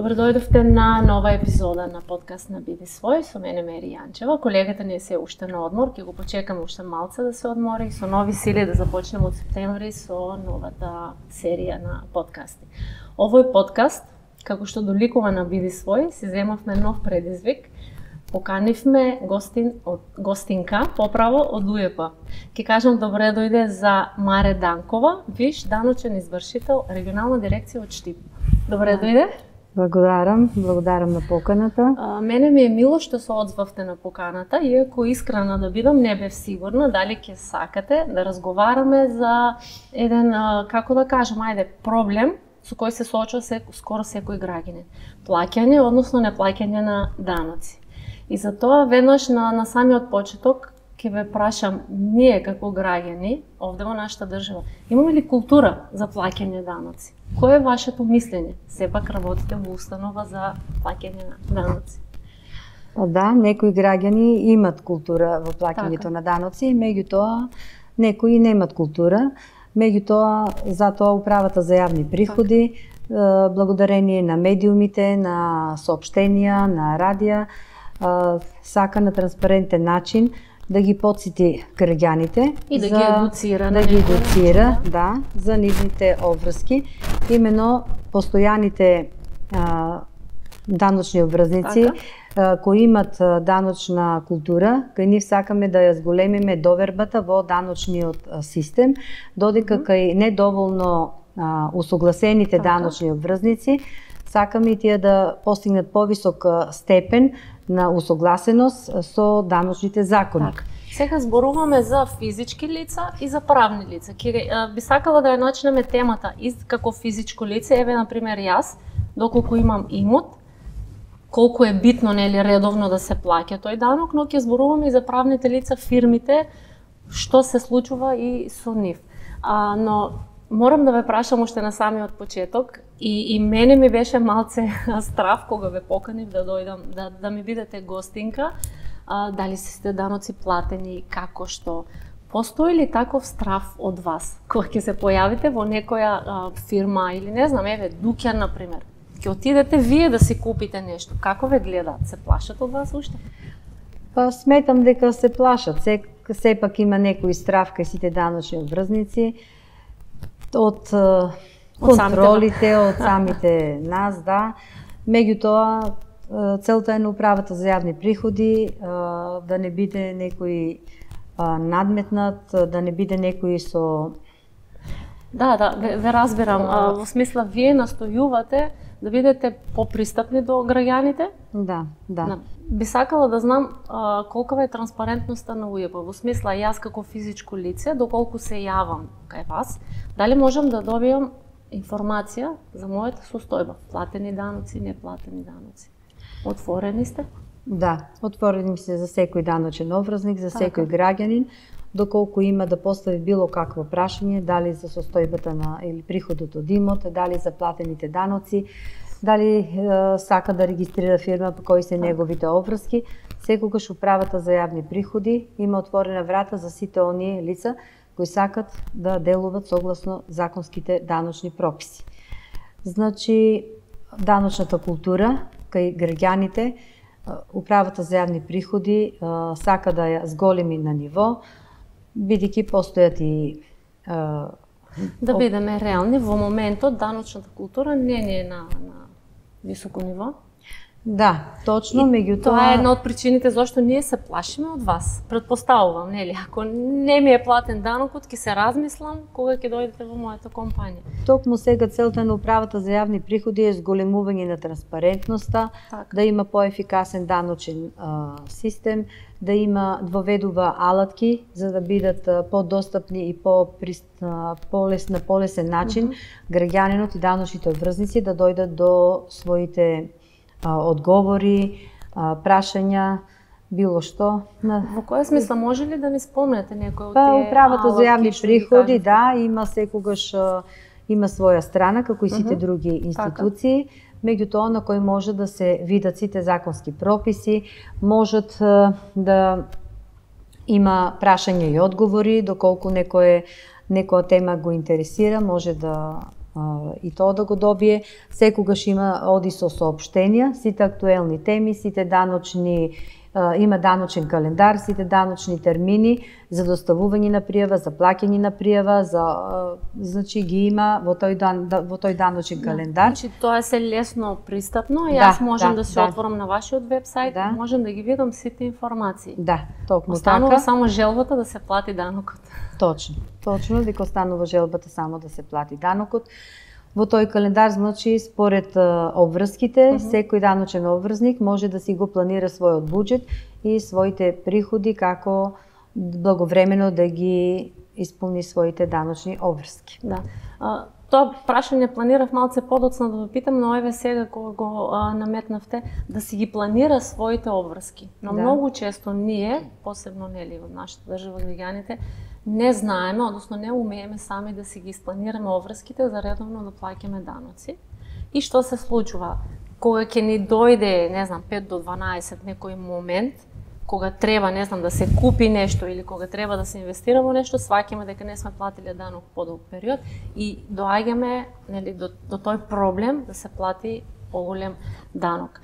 Добро дојдовте на нова епизода на подкаст на Биди свој, со мене Мери Јанчева. Колегата не се уште на одмор, ќе го почекаме уште малце да се одмори и со нови сили да започнеме од септември со новата серија на подкасти. Овој подкаст, како што доликува на Биди свој, си земавме нов предизвик. Поканивме гостинка, поправо од УЕП. Ке кажам добре дојде за Маре Данкова, виш даночен извршител, регионална дирекција од Штип. Добре дојде. Благодарам на поканата. Мене ми е мило што се одзвавте на поканата, иако искрена да бидам, не бев сигурна дали ќе сакате да разговараме за еден, како да кажам, проблем со кој се соочува скоро секој граѓанин. Плаќање, односно неплаќање на даноци. И затоа веднаш на самиот почеток ќе ве прашам, ние како граѓани овде во нашата држава, имаме ли култура за плаќање даноци? Кој е вашето мислење? Сепак работите во установа за плаќање на даноци. Да, некои граѓани имат култура во плаќањето на даноци, меѓутоа некои немат култура. Меѓутоа, затоа управата за јавни приходи, благодарение на медиумите, на соопштенија, на радија, сака на транспарентен начин да ги потсети граѓаните и да ги едуцира, за нивните обврски. Именно постојаните даночни обврзници кои имат даночна култура, кај нив сакаме да ја зголемиме довербата во даночниот систем, додека кај недоволно усогласените даночни обврзници сакаме и тие да постигнат повисок степен на усогласеност со даночните закони. Сега зборуваме за физички лица и за правни лица. Би сакала да ја начнеме темата и како физичко лице, еве например јас, доколку имам имот, колку е битно редовно да се плаќа тој данок, но ќе зборуваме и за правните лица, фирмите, што се случува и со нив. Но морам да ве прашам уште на самиот почеток, и мене ми беше малце страв кога ве поканив да дојдам, да ми бидете гостинка, дали сте даноци платени, како што. Постои ли таков страв од вас, кога ќе се појавите во некоја фирма или не знам, еве, дуќан, например, ќе отидете вие да си купите нешто, како ве гледаат, се плашат од вас уште? Па сметам дека се плашат, сепак има некој страв кај сите даночни обврзници, од контролите, од самите нас, Меѓутоа, целта е на управата за јавни приходи да не биде некој надметнат, да не биде некој со... ве разбирам. Во смисла, вие настојувате да бидете попристапни до граѓаните? Да. Би сакала да знам колкава е транспарентноста на УЈП. Во смисла, јас како физичко лице, доколку се јавам кај вас, дали можам да добијам информација за мојата состојба? Платени даноци, неплатени даноци. Отворени сте? Да, отворени сте за секој даночен обврзник, за секој граѓанин, доколку има да постави било какво прашање, дали за состојбата на или приходот од имот, дали за платените даноци, дали сака да регистрира фирма по кои се неговите обврски, секогаш управата за јавни приходи има отворена врата за сите оние лица кои сакат да делуват согласно законските даночни прописи. Значи, даночната култура кај граѓаните, управата за јавни приходи сака да ја зголеми на ниво, бидејќи постојат и... Да бидеме реални, во моментот даночната култура не е на високо ниво. Да, точно, меѓутоа... Тоа е една од причините зашто ние се плашиме од вас. Предпоставувам, нели? Ако не ми е платен данокот, ќе се размислам кога ќе дојдете во мојата компанија. Токму сега целта на управата за јавни приходи е зголемување на транспарентноста, да има поефикасен даночен систем, да има воведува алатки за да бидат подостапни и на полесен начин граѓанинот и даночните обврзници да дојдат до своите одговори, прашања, било што. Во која смисла, може ли да ни спомнете некој од тие управата за јавни приходи, има секогаш има своја страна, како и сите други институции, меѓутоа на кој може да се видат сите законски прописи, можат да има прашања и одговори, доколку некоја тема го интересира, може да и тоа да го добие. Секогаш оди со соопштенија, сите актуелни теми, сите даночни, има даночен календар, сите даночни термини за доставување на пријава, за плаќање на пријава, значи ги има во тој даночен календар. Значи тоа е се лесно пристапно и јас можам да се отворам на вашиот вебсајт, можам да ги видам сите информации. Да, токму останува така. Само желбата да се плати данокот. Точно, дека останува желбата само да се плати данокот. Во тој календар, значи, според обврските, секој даночен обврзник може да си го планира својот буџет и своите приходи како благовремено да ги исполни своите даночни обврски. Да. Тоа прашање планирав малце подоцна да ве питам, но еве сега кога го наметнавте да си ги планира своите обврски. Но многу често ние, посебно нели во нашата држава граѓаните, не знаеме, односно не умееме сами да си ги испланираме обврските за редовно да плаќаме даноци. И што се случува? Кога ќе ни дојде, не знам, 5 до 12 некој момент, кога треба, не знам, да се купи нешто или кога треба да се инвестира во нешто, сваќаме дека не сме платиле данок подолг период и доаѓаме, нели, до тој проблем да се плати поголем данок.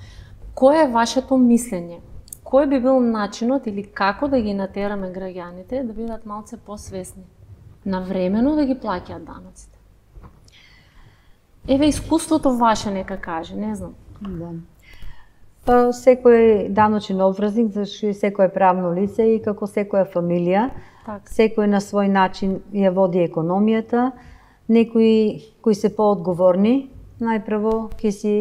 Кој е вашето мислење? Кој би бил начинот или како да ги натераме граѓаните да бидат малце посвесни, навремено да ги плаќаат даноците? Еве искуството ваше нека каже, не знам. Да. Па секој даночен обврзник, зашто секое правно лице и како секоја фамилија, секој на свој начин ја води економијата. Некои кои се поодговорни, најпрво ќе си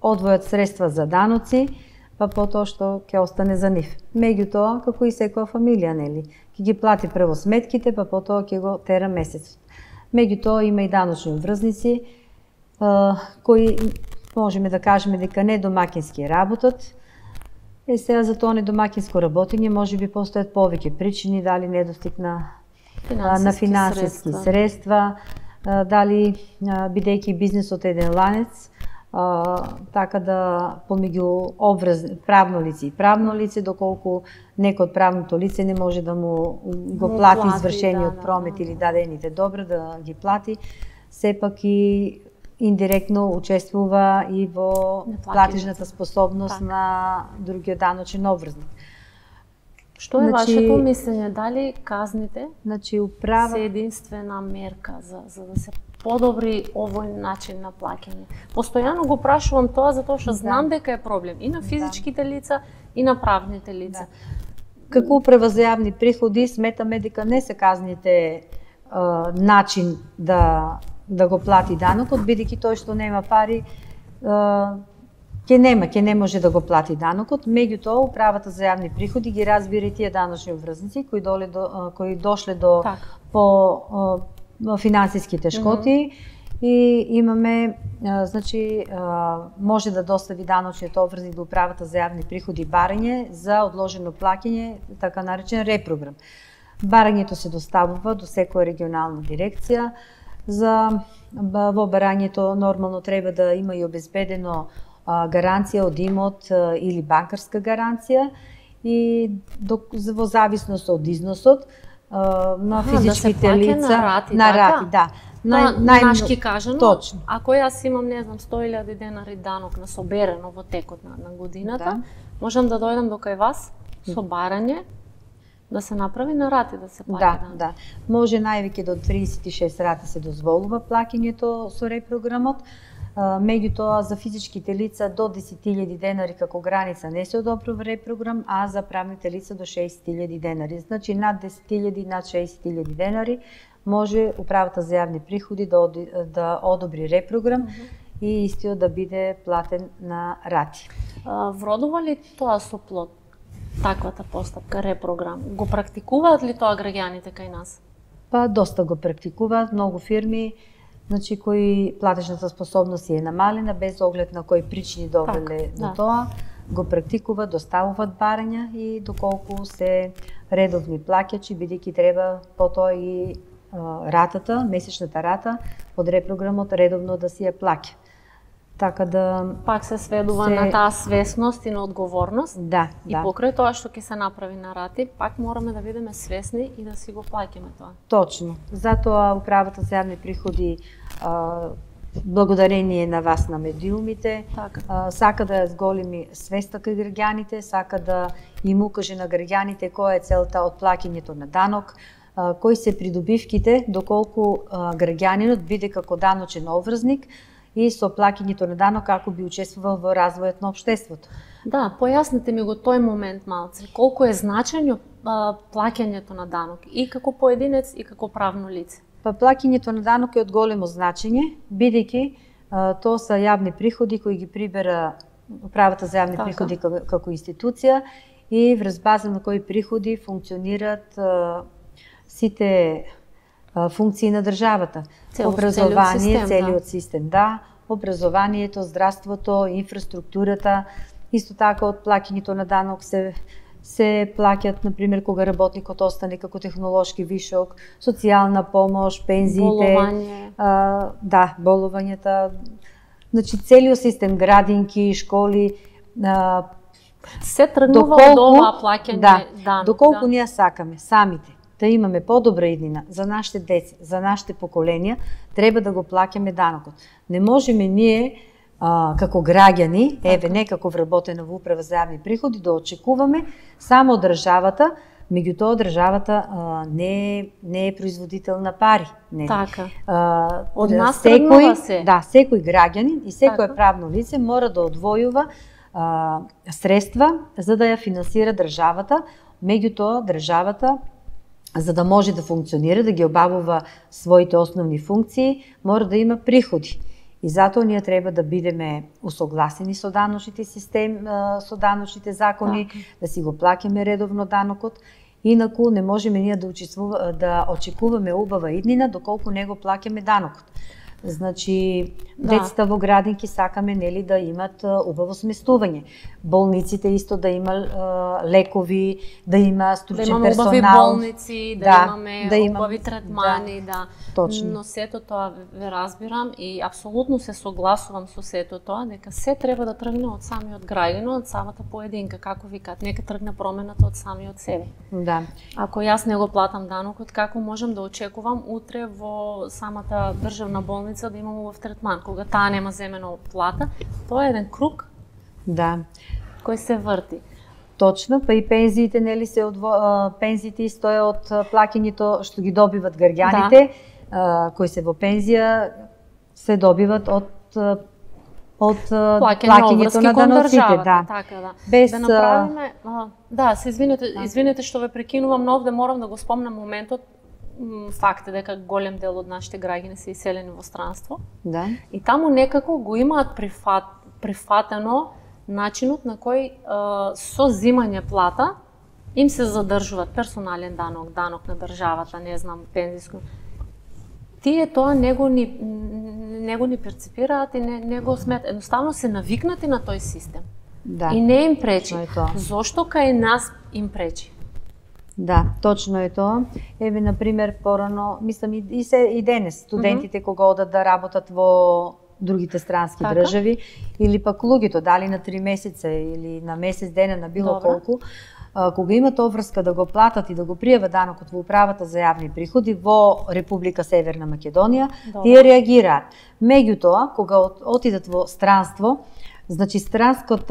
одвојат средства за даноци, па потоа што ќе остане за нив. Меѓутоа, како и секоја фамилија, нели, ќе ги плати прво сметките, па потоа ќе го тера месецот. Меѓутоа има и даночни обврзници кои можеме да кажеме дека не домакински работат. Сега за тоа недомакинско работење можеби постојат повеќе причини, дали недостиг на финансиски средства, дали бидејќи бизнисот е еден ланец, така да помеѓу правно лице и правно лице, доколку некој од правното лице не може да му го плати извршениот промет или дадените добра да ги плати, сепак и индиректно учествува и во платежната способност на другиот даночен обврзник. Што е вашето мислење? Дали казните се единствена мерка за да се подобри овој начин на плаќање? Постојано го прашувам тоа затоа што знам дека е проблем и на физичките лица и на правните лица. Како управа за јавни приходи сметаме дека не се казните начин да го плати данокот, бидејќи тој што нема пари ќе не може да го плати данокот. Меѓутоа, управата за јавни приходи ги разбира и тие даночни обврзници кои дошле до финансиски тешкоти и имаме, значи, може да достави даночниот обврзник до управата за јавни приходи барање за одложено плаќање, така наречен репрограм. Барањето се доставува до секоја регионална дирекција. Во барањето нормално треба да има и обезбедено гаранција од имот или банкарска гаранција и во зависност од износот на физичките лица на рати, да. Нашки кажано, точно. Ако јас имам, не знам, 100.000 денари данок на соберено во текот на годината, можам да дојдам до кај вас со барање да се направи на рати, да се плаќа. Да. Може највеќе до 36 рати се дозволува плаќањето со репрограмот. Меѓутоа за физичките лица до 10.000 денари како граница не се одобрува репрограм, а за правните лица до 6.000 денари. Значи над 10.000, над 6.000 денари може управата за јавни приходи да одобри репрограм и истиот да биде платен на рати. Вродува ли тоа со плод? Таквата постапка, репрограм. Го практикуваат ли тоа граѓаните кај нас? Па доста го практикуваат, многу фирми, значи кои платежната способност е намалена без оглед на кои причини довеле до тоа, го практикуваат, доставуваат барања и доколку се редовни плаќачи, бидејќи треба потоа и ратата, месечната рата од репрограмот редовно да си ја плаќа. Така да пак се сведува на таа свесност и на одговорност. Да. И покрај тоа што ќе се направи на рати, пак мораме да бидеме свесни и да си го плаќаме тоа. Точно. Затоа управата за јавни приходи благодарение на вас, на медиумите, Така. сака да ја зголеми свеста кај граѓаните, сака да им укаже на граѓаните која е целта од плаќањето на данок, кои се придобивките, доколку граѓанинот биде како даночен обврзник и со плаќањето на данок како би учествувал во развојот на општеството. Да, појасните ми го тој момент малце. Колку е значајно плаќањето на данок и како поединец и како правно лице? Па плаќањето на данок е од големо значење, бидејќи тоа се јавни приходи кои ги прибера Управата за јавни приходи како институција и врз база на кои приходи функционираат сите функции на државата. Образование, целиот систем, да, образованието, здравството, инфраструктурата, исто така од плаќањето на данок се плаќат, например, кога работникот остане како технолошки вишок, социјална помош, пензиите, болувањата, значи целиот систем, градинки, школи, се тргнува од ова плаќање данок. Доколку ние сакаме самите да имаме подобра иднина за нашите деца, за нашите поколенија, треба да го плаќаме данокот. Не можеме ние како граѓани, не како вработена во Управа за јавни приходи, да очекуваме само државата, меѓутоа државата не е производител на пари. Така. Од нас тргнува се. Да, секој граѓанин и секое правно лице мора да одвојува средства за да ја финансира државата, меѓутоа државата за да може да функционира, да ги обавува своите основни функции, мора да има приходи. И затоа ние треба да бидеме усогласени со даночните систем, со даночните закони, да си го плаќаме редовно данокот. Инаку не можеме ние да очекуваме убава иднина доколку не го плаќаме данокот. Значи, децата во градинки сакаме нели да имат убаво сместување. Болниците исто да има лекови, да има стручен персонал. Да имаме убави болници, да имаме убави третмани, Точно. Но сето тоа ве разбирам и апсолутно се согласувам со сето тоа, дека се треба да тргне од самиот граѓанин, од самата поединка, како викаат, нека тргне промената од самиот себе. Да. Ако јас не го платам данокот, како можам да очекувам утре во самата државна болница да имам убав третман, кога таа нема земено плата? Тоа е еден круг кој се врти. Точно, па и пензиите нели се пензиите исто е од плаќањето што ги добиват граѓаните, кои се во пензија се добиват од плаќањето на даноците, Така, да. Без да направиме, се извинете што ве прекинувам, но овде морам да го спомнам моментот. Факт е дека голем дел од нашите граѓани се иселени во странство. Да. И таму некако го имаат прифатено начинот на кој со зимање плата им се задржуваат персонален данок, данок на државата, не знам, пензиско. Тие тоа не го ни перципираат и не го сметаат. Едноставно се навикнати на тој систем. Да. И не им пречи. Зошто кај нас им пречи? Да, точно е тоа. Еве, например, порано, мислам и денес, студентите кога одат да работат во другите странски држави, или пак луѓето, дали на 3 месеца или на месец дена, на било колку, кога имат обврска да го платат и да го пријават данокот во Управата за јавни приходи во Република Северна Македонија, тие реагираат. Меѓутоа, кога отидат во странство, значи странскиот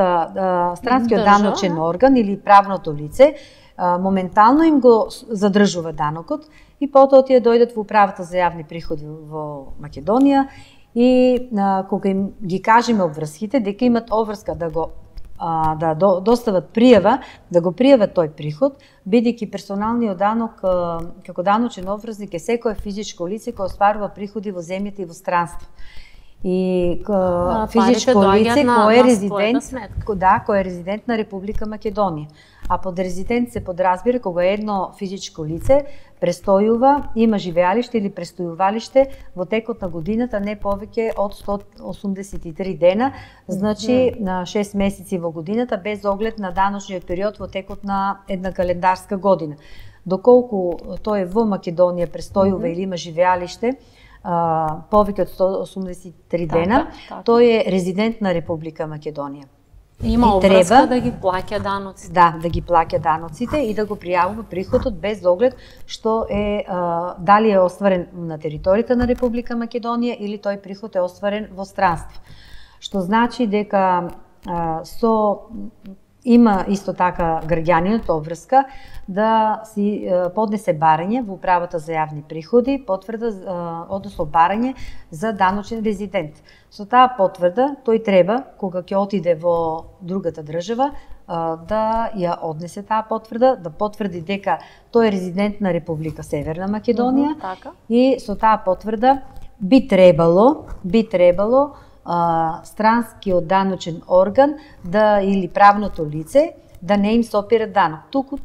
даночен орган или правното лице моментално им го задржува данокот и потоа тие дојдат во Управата за јавни приходи во Македонија и кога им ги кажеме обврските дека имат обврска да достават пријава, да го пријават тој приход, бидејќи персоналниот данок како даночен обврзник е секое физичко лице кој остварува приходи во земјата и во странство. И физичко лице кој е резидент на Република Македонија. А под резидент се подразбира кога едно физичко лице престојува, има живеалиште или престојувалиште во текот на годината не повеќе од 183 дена, значи на 6 месеци во годината без оглед на даночниот период во текот на една календарска година. Доколку тој во Македонија престојува или има живеалиште повеќе од 183 дена, тој е резидент на Република Македонија. Има обврска да ги плаќа даноците. Да, да ги плаќа даноците и да го пријавува приходот без оглед што е дали е остварен на територијата на Република Македонија или тој приход е остварен во странство. Што значи дека има исто така граѓанинот обврска да си поднесе барање во управата за јавни приходи, потврда, односно барање за даночен резидент. Со таа потврда тој треба, кога ќе отиде во другата држава, да ја однесе таа потврда, да потврди дека тој е резидент на Република Северна Македонија и со таа потврда би требало странскиот даночен орган или правното лице да не им сопира данок. Туку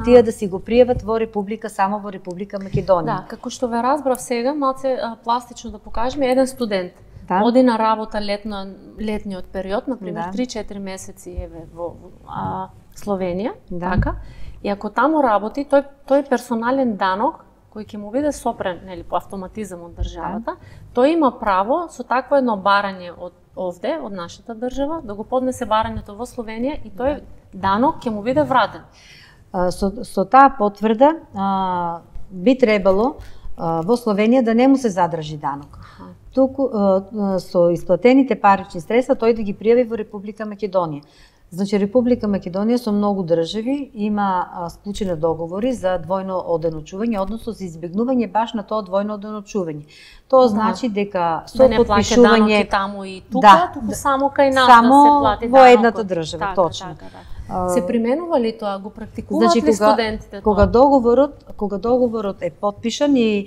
тие да си го пријават во Република, само во Република Македонија. Да, како што ве разбрав сега, малце пластично да покажеме, еден студент оди на работа летниот период, например 3-4 месеци во Словенија, така, и ако таму работи, тој персонален данок кој ќе му биде сопрен, нели, по автоматизам од државата, тој има право со такво едно барање од нашата држава, да го поднесе барањето во Словенија и тој данок ќе му биде вратен. Со таа потврда би требало во Словенија да не му се задржи данок. Туку со исплатените парични средства тој да ги пријави во Република Македонија. Значи, Република Македонија со многу држави има склучени договори за двојно оденочување, односно за избегнување баш на тоа двојно оденочување. Тоа значи дека со потпишување таму и тука, туку само кај нас да се плати во едната држава, точно. Се применува ли тоа, го практикуваат ли студентите тоа? Кога договорот е потпишан и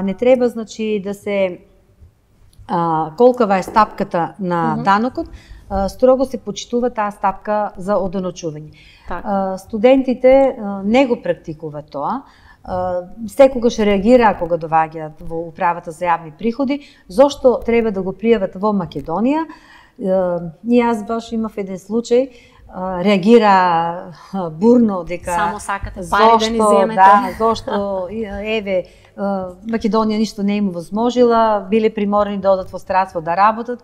не треба, значи, да се колкава е стапката на данокот, строго се почитува таа стапка за оденочување. Студентите не го практикуваат тоа. Секогаш реагира кога доаѓаат во управата за јавни приходи, зошто треба да го пријават во Македонија. И јас баш имав еден случај, реагира бурно дека само сакате пари да ни земете. Зошто еве Македонија ништо не им возможила, биле приморани да одат во странство да работат.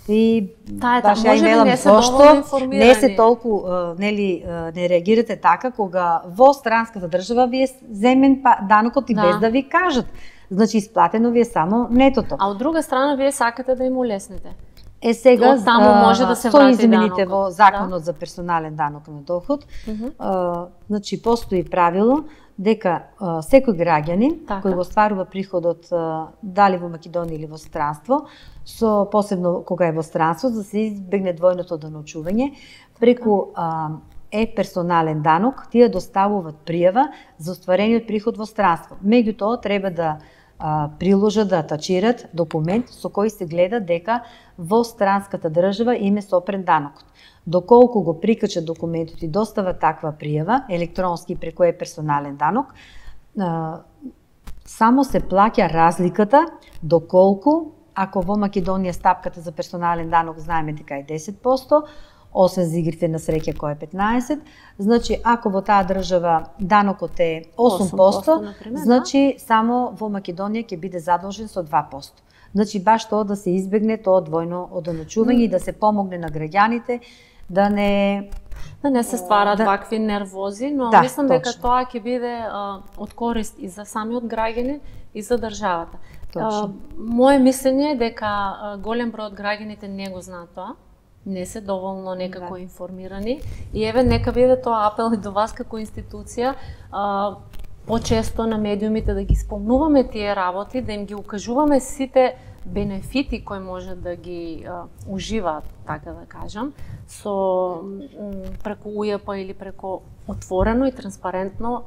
И баш ја имелам зошто не се толку не реагирате така кога во странската држава ви е земен данокот и без да ви кажат. Значи исплатено ви е само нетото. А од друга страна вие сакате да им улеснете. Сега таму може да се врати данокот. Со измените во законот за персонален данок на доход, значи постои правило дека секој граѓанин кој го остварува приходот дали во Македонија или во странство, посебно кога е во странство, за да се избегне двојното оденочување, преку персонален данок, тие доставуваат пријава за остварениот приход во странство. Меѓутоа треба да приложат, да атачират документ со кој се гледа дека во странската држава им е сопрен данокот. Доколку го прикачат документот и достава таква пријава, електронски преку персонален данок, само се плаќа разликата доколку, ако во Македонија стапката за персонален данок знаеме дека е 10%, освен за игрите на среќа кој е 15%, значи ако во таа држава данокот е 8%, значи само во Македонија ќе биде задолжен со 2%. Значи баш тоа да се избегне тоа двојно оденочување и да се помогне на граѓаните да не се стварат вакви нервози, но мислам дека тоа ќе биде од корист и за самиот граѓанин и за државата. Моje мислење е дека голем број од граѓаните не го знаат тоа, не се доволно некако информирани и еве нека биде тоа апел и до вас како институција, почесто на медиумите да ги спомнуваме тие работи, да им ги укажуваме сите бенефити кои може да ги уживаат, така да кажам, преку УЈП или преку отворено и транспарентно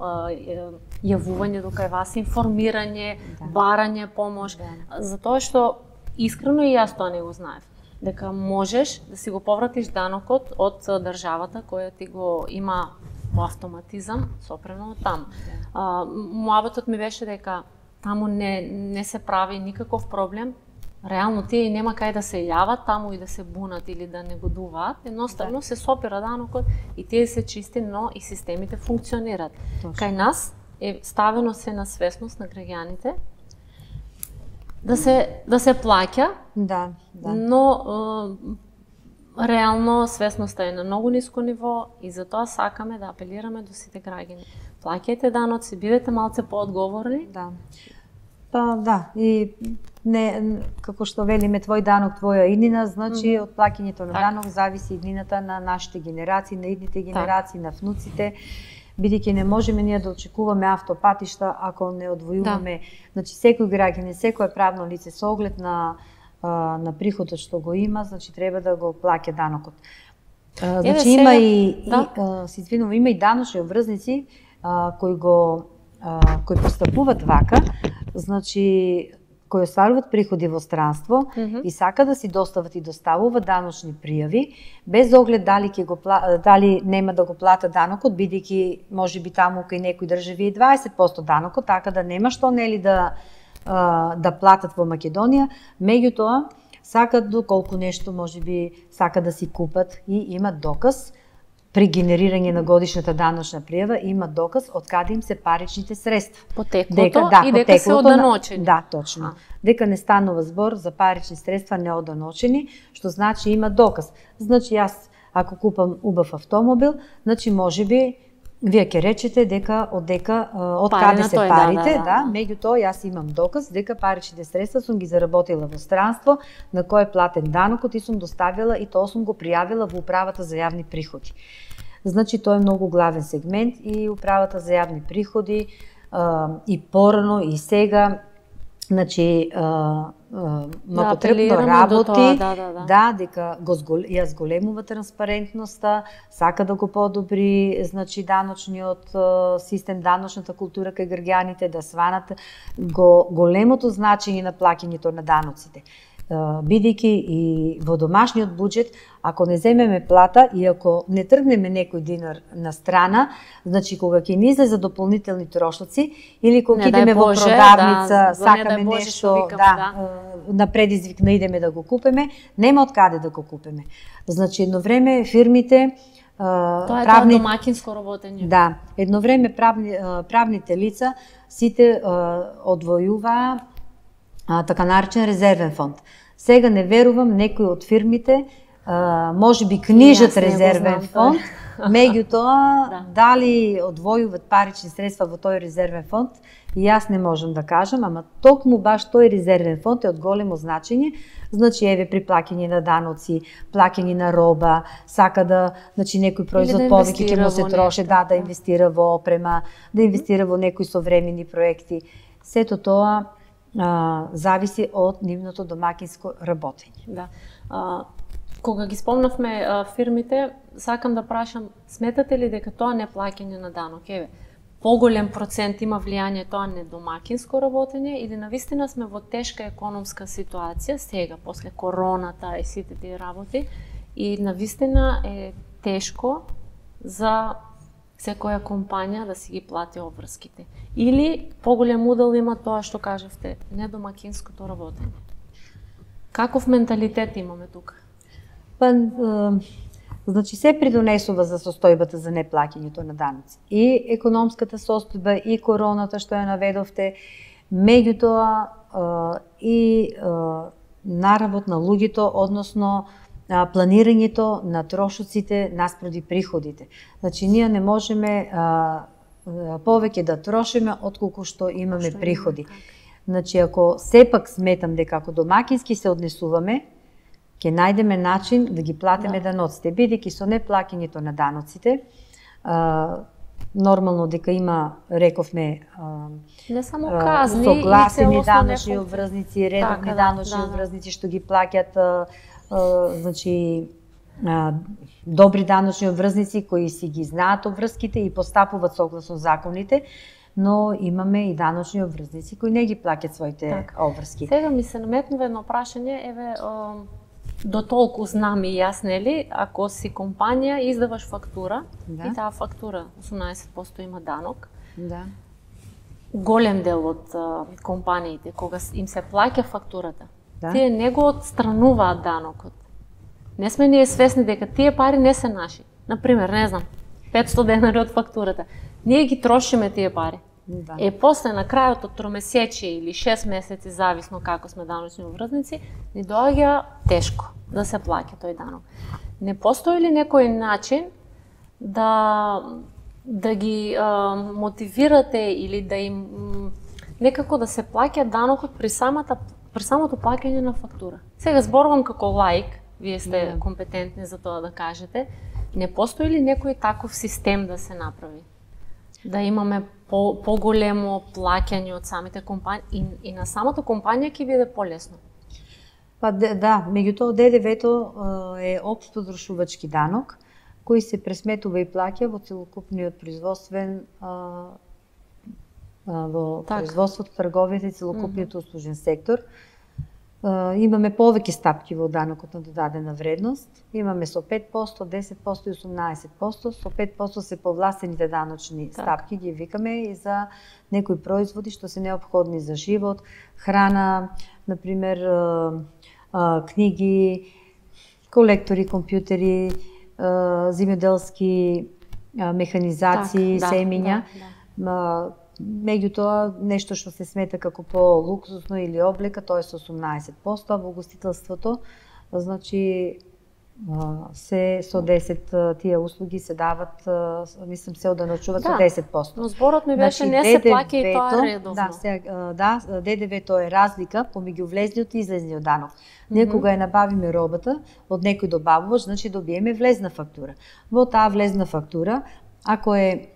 јавување до кај вас, информирање, барање помош, затоа што искрено и јас тоа не го знаев, дека можеш да си го повратиш данокот од државата која ти го има по автоматизам сопрено од таму. Муабетот ми беше дека таму не се прави никаков проблем. Реално тие и нема кај да се јават таму и да се бунат или да негодуваат. Едноставно се сопира данокот и тие се чисти, но и системите функционираат. Кај нас е ставено се на свесност на граѓаните да се плаќа, но реално свесноста е на многу ниско ниво и затоа сакаме да апелираме до сите граѓани. Плаќајте даноци, бидете малце поодговорни. Да. Па да, и не како што велиме твој данок, твоја иднина, значи од плаќањето на данок зависи иднината на нашите генерации, на идните генерации, на внуците, бидејќи не можеме ние да очекуваме автопатишта ако не одвојуваме, значи секој граѓанин, секое правно лице со оглед на приходот што го има, значи треба да го плаќа данокот. Значи има има и даночни обврзници кои постапуваат вака, значи кои остваруваат приходи во странство и сака да си достават и доставуваат даночни пријави без оглед дали нема да го плата данокот, бидејќи можеби таму кај некои држави е 20% данокот, така да нема што нели да платат во Македонија, меѓутоа сакат доколку нешто можеби сака да си купат и имат доказ при генерирање на годишната даночна пријава, имат доказ од каде им се паричните средства. Потеклото и дека се оданочени. Да, точно. Дека не станува збор за парични средства неоданочени, што значи има доказ. Значи јас ако купам убав автомобил, значи можеби вие ќе речете дека од каде се парите, меѓутоа јас имам доказ дека паричните средства сум ги заработила во странство, на кој е платен данокот и сум доставила и тоа сум го пријавила во управата за јавни приходи. Значи тоа е многу главен сегмент и управата за јавни приходи и порано и сега, значи потребно работи, дека ја зголемува транспарентноста, сака да го подобри, значи даночниот систем, даночната култура кај граѓаните, да сванат големото значење на плаќањето на даноците. Бидејќи и во домашниот буџет, ако не земеме плата и ако не тргнеме некој динар на страна, значи кога ќе ни излезе дополнителни трошоци или кога идеме во продавница, сакаме нешто, на предизвик не идеме да го купиме, нема од каде да го купиме. Значи едно време фирмите тоа е домакинско работење. Да, едно време правните лица сите одвојуваа така наречен резервен фонд. Сега не верувам некои од фирмите можеби книжат резервен фонд, меѓутоа дали одвојуваат парични средства во тој резервен фонд, и јас не можам да кажам, ама токму баш тој резервен фонд е од големо значење. Значи еве при плаќање на даноци, плаќање на роба, сака да, значи некој производ повеќе ќе му се троши, да инвестира во опрема, да инвестира во некои современи проекти. Сето тоа зависи од нивното домакинско работење. Да. Кога ги спомнавме фирмите, сакам да прашам, сметате ли дека тоа неплаќање на данок, поголем процент има влијание тоа на домакинско работење или навистина сме во тешка економска ситуација сега, после короната и сите тие работи, и навистина е тешко за секоја компанија да си ги плати обврските. Или поголем удел има тоа што кажавте, недомакинското работење. Каков менталитет имаме тука? Па, значи се придонесува за состојбата за неплаќањето на даноци. И економската состојба, и короната што ја наведовте, меѓутоа и наравот на луѓето, односно планирањето на трошоците наспроти приходите. Значи, ние не можеме повеќе да трошиме отколку што имаме приходи. Значи, ако сепак сметам дека ако домакински се однесуваме, ќе најдеме начин да ги платиме даноците, бидејќи со неплаќањето на даноците, нормално дека има, рековме, не само казни, согласени даночни обврзници, редовни даночни обврзници што ги плаќаат, значи добри даночни обврзници кои си ги знаат обврските и постапуваат согласно законите, но имаме и даночни обврзници кои не ги плаќаат своите обврски. Сега ми се наметнува едно прашање, до толку знам и јас, нели, ако си компанија издаваш фактура и таа фактура 18% има данок, голем дел од компаниите кога им се плаќа фактурата, тие не го отстрануваат данокот. Не сме ние свесни дека тие пари не се наши. Например, не знам, 500 денари од фактурата. Ние ги трошиме тие пари. После на крајот од тромесечие или 6 месеци, зависно како сме даночни обврзници, ни доаѓа тешко да се плаќа тој данок. Не постои ли некој начин да ги мотивирате или да им некако да се плаќа данокот при самото плаќање на фактура? Сега зборувам како лаик, вие сте компетентни за тоа да кажете. Не постои ли некој таков систем да се направи? Да имаме поголемо плаќање од самите компании и на самата компанија ќе биде полесно? Па да, меѓутоа ДДВ-то е општ потрошувачки данок кој се пресметува и плаќа во целокупниот производствен во производството, трговијата и целокупниот услужен сектор. Имаме повеќе стапки во данокот на додадена вредност. Имаме со 5%, 10% и 18%. Со 5% се повластените даночни стапки, ги викаме, и за некои производи што се неопходни за живот, храна, например, книги, колектори, компјутери, земјоделски механизации, семења. Меѓутоа, нешто што се смета како по-луксусно или облека, тоа е со 18%, а во гостителството, значи, се со 10 тие услуги се дават, мислам, се оданочуват со 10%. Но зборот ми беше не се плаќа и тоа редовно. ДДВ-то е разлика помеѓу влезниот и излезниот данок. Ние кога ја набавиме робата од некој добавувач, значи добиеме влезна фактура. Во таа влезна фактура, ако е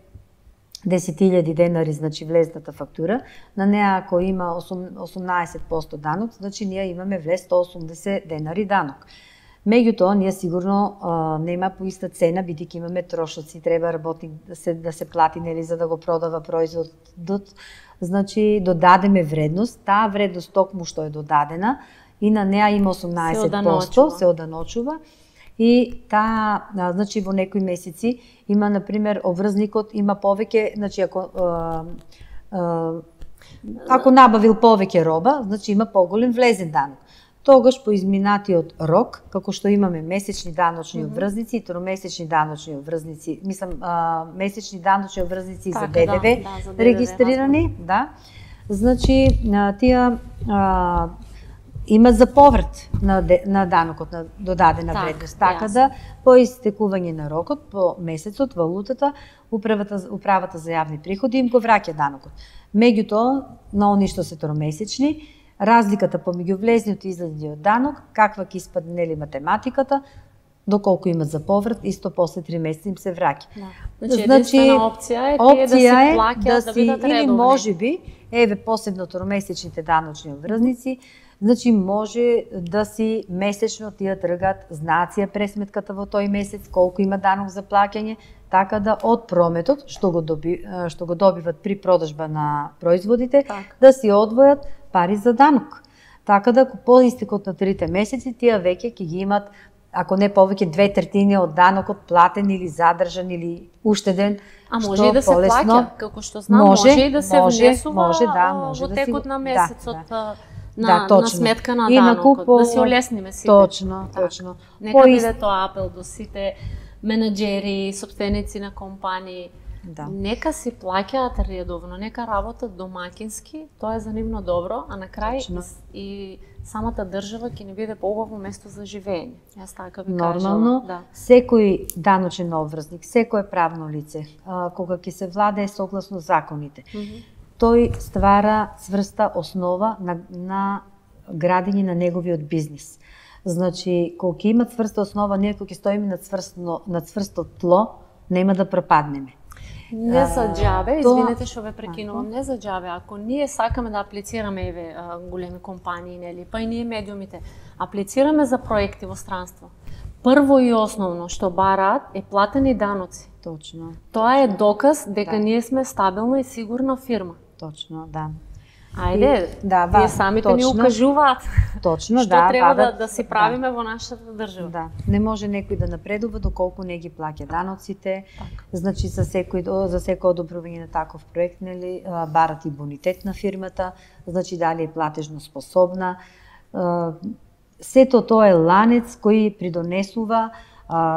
10.000 денари, значи влезната фактура, на неа ако има 18% данок, значи ние имаме влез 180 денари данок. Меѓутоа, ние сигурно нема по иста цена, бидејќи имаме трошоци, треба работник да се плати, нели, за да го продава производот. Значи, додадеме вредност, таа вредност токму што е додадена, и на неа има 18%, се оданочува. И таа, значи, во некои месеци има, например, обврзникот има повеќе, значи, ако набавил повеќе роба, значи има поголем влезен данок. Тогаш по изминатиот рок, како што имаме месечни даночни обврзници и тромесечни даночни обврзници, мислам, месечни даночни обврзници за ДДВ регистрирани, значи, тие имат за поврат на данокот на додадена вредност. Така да, по истекување на рокот, по месецот, валутата, управата за јавни приходи им го враќа данокот. Меѓутоа, на они што се тромесечни, разликата помеѓу влезниот и излезниот данок, каква ќе испадне, нели, математиката, доколку имат за поврат, исто после 3 месеца им се враќа. Значи, единствена опција е тие да си плаќаат, да бидат редовни. Или можеби, посебно тромесечните даночни обврзници, значи може да си месечно тие тргат, знаат си ја пресметката во тој месец, колку има данок за плаќање, така да од прометот што го добиват при продажба на производите, да си одвојат пари за данок. Така да по истекот на 3 месеци тие веќе ќе ги имат, ако не повеќе, 2/3 од данокот платен или задржан или уштеден. А може и да се плаќа, како што знам, може и да се внесува во текот на месецот. На сметка на данокот, да се олесниме сите. Точно. Нека биде тоа апел до сите менаџери, собственици на компании. Нека си плаќаат редовно, нека работат домакински, тоа е за нивно добро, а на крај и самата држава ќе ни биде поубаво место за живење. Јас така би кажала. Нормално, секој даночен обврзник, секое правно лице, кога ќе се владее согласно законите, тој ствара цврста основа на градење на неговиот бизнис. Значи, кога ќе има цврста основа, ние кога ќе стоиме на цврсто тло, нема да пропаднеме. Не за џабе, извинете што ве прекинувам, не за џабе. Ако ние сакаме да аплицираме големи компании, нели, па и ние медиумите, аплицираме за проекти во странство. Прво и основно што бараат е платени даноци. Точно. Тоа е доказ дека ние сме стабилна и сигурна фирма. Точно, да. Ајде, тие самите ни укажуваат точно, што треба да си правиме во нашата држава. Не може некој да напредува доколку не ги плаќа даноците. Значи за секој одобрување на таков проект, нели, барат и бонитет на фирмата, значи дали е платежно способна. Сето тоа е ланец кој придонесува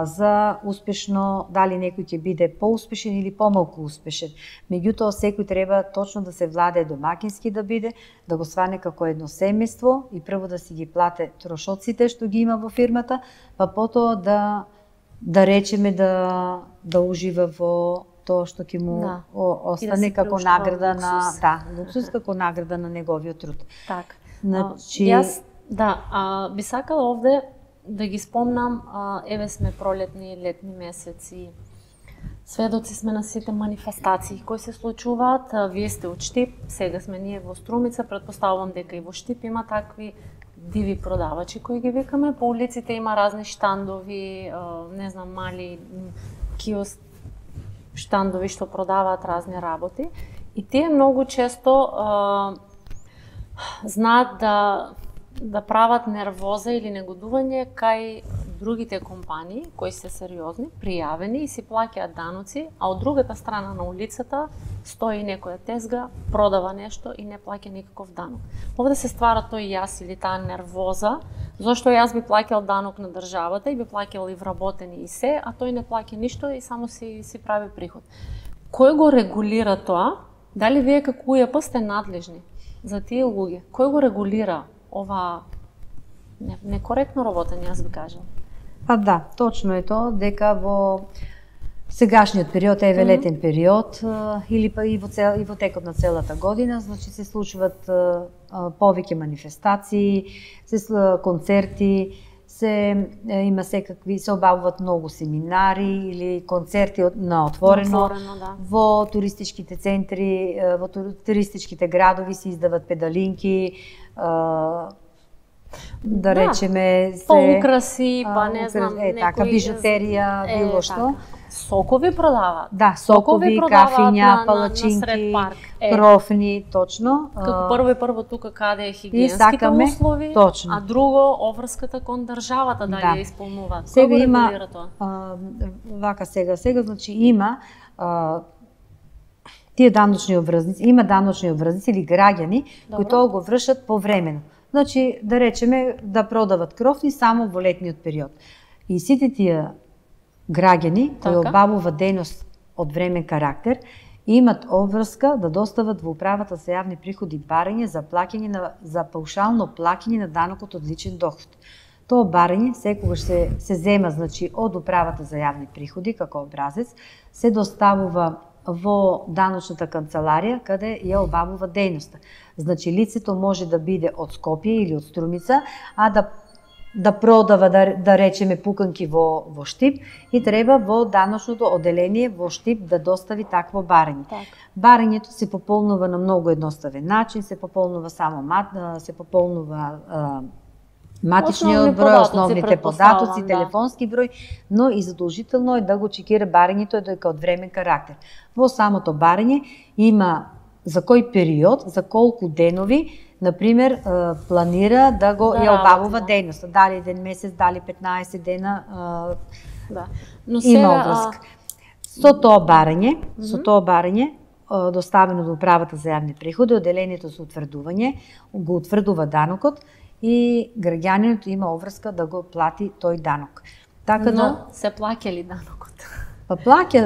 за успешно, дали некој ќе биде поуспешен или помалку успешен. Меѓутоа, секој треба точно да се владее домакински да биде, да го сване како едно семејство и прво да си ги плате трошоците што ги има во фирмата, па потоа да речеме да ужива во тоа што ќе му остане како награда на луксус, како награда на неговиот труд. Така. Значи, јас би сакала овде да ги спомнам, еве сме пролетни и летни месеци. Сведоци сме на сите манифестации кои се случуваат. Вие сте од Штип, сега сме ние во Струмица, претпоставувам дека и во Штип има такви диви продавачи кои ги викаме. По улиците има разни штандови, не знам, мали киоск штандови што продаваат разни работи. И тие многу често знаат да прават нервоза или негодување кај другите компании кои се сериозни, пријавени и си плаќаат даноци, а од другата страна на улицата стои некоја тезга, продава нешто и не плаќа никаков данок. Овде се ствара тој јас или таа нервоза, зашто јас би плаќал данок на државата и би плаќал и вработени и се, а тој не плаќа ништо и само си прави приход. Кој го регулира тоа? Дали вие како УЈП сте надлежни за тие луѓе? Кој го регулира ова некоректно работење, јас би кажала? Па да, точно е тоа, дека во сегашниот период, еве летен период, или па и во текот на целата година, значи се случуваат повеќе манифестации, концерти, има секакви, се обавуваат многу семинари или концерти на отворено, во туристичките центри, во туристичките градови се издават педалинки, да речеме украси, па не знам, така бижутерија, било што. Сокови продаваат. Да, сокови, кафиња, палачинки, крофни, точно. Како прво тука каде е хигиенските услови, точно. А друго обврската кон државата дали ја исполнуваат. Сега има вака сега значи има тие даночни обврзници, има даночни обврзници или граѓани кои тоа го вршат повремено. Значи, да речеме, да продават крофни само во летниот период. И сите тие граѓани кои обавуваат дејност од времен карактер имат обврска да достават во управата за јавни приходи барање за плаќање за паушално плаќање на данокот од личен доход. Тоа барање секогаш се зема, значи, од управата за јавни приходи како образец, се доставува во даночната канцеларија каде ја обавува дејноста. Значи, лицето може да биде од Скопје или од Струмица, а да продава, да речеме, пуканки во Штип и треба во даночното оделение во Штип да достави такво барање. Барањето се пополнува на многу едноставен начин, се пополнува матичниот број, основните податоци, телефонски број, но и задолжително е да го чекира барањето дека од времен карактер. Во самото барање има за кој период, за колку денови, например, планира да го ја обавува дејноста, дали еден месец, дали 15 дена, има обврска. Со тоа барање, доставено до управата за јавни приходи, оделението за утврдување, го утврдува данокот и граѓанинот има обврска да го плати тој данок. Но се плаќа ли данокот? Па плаќа,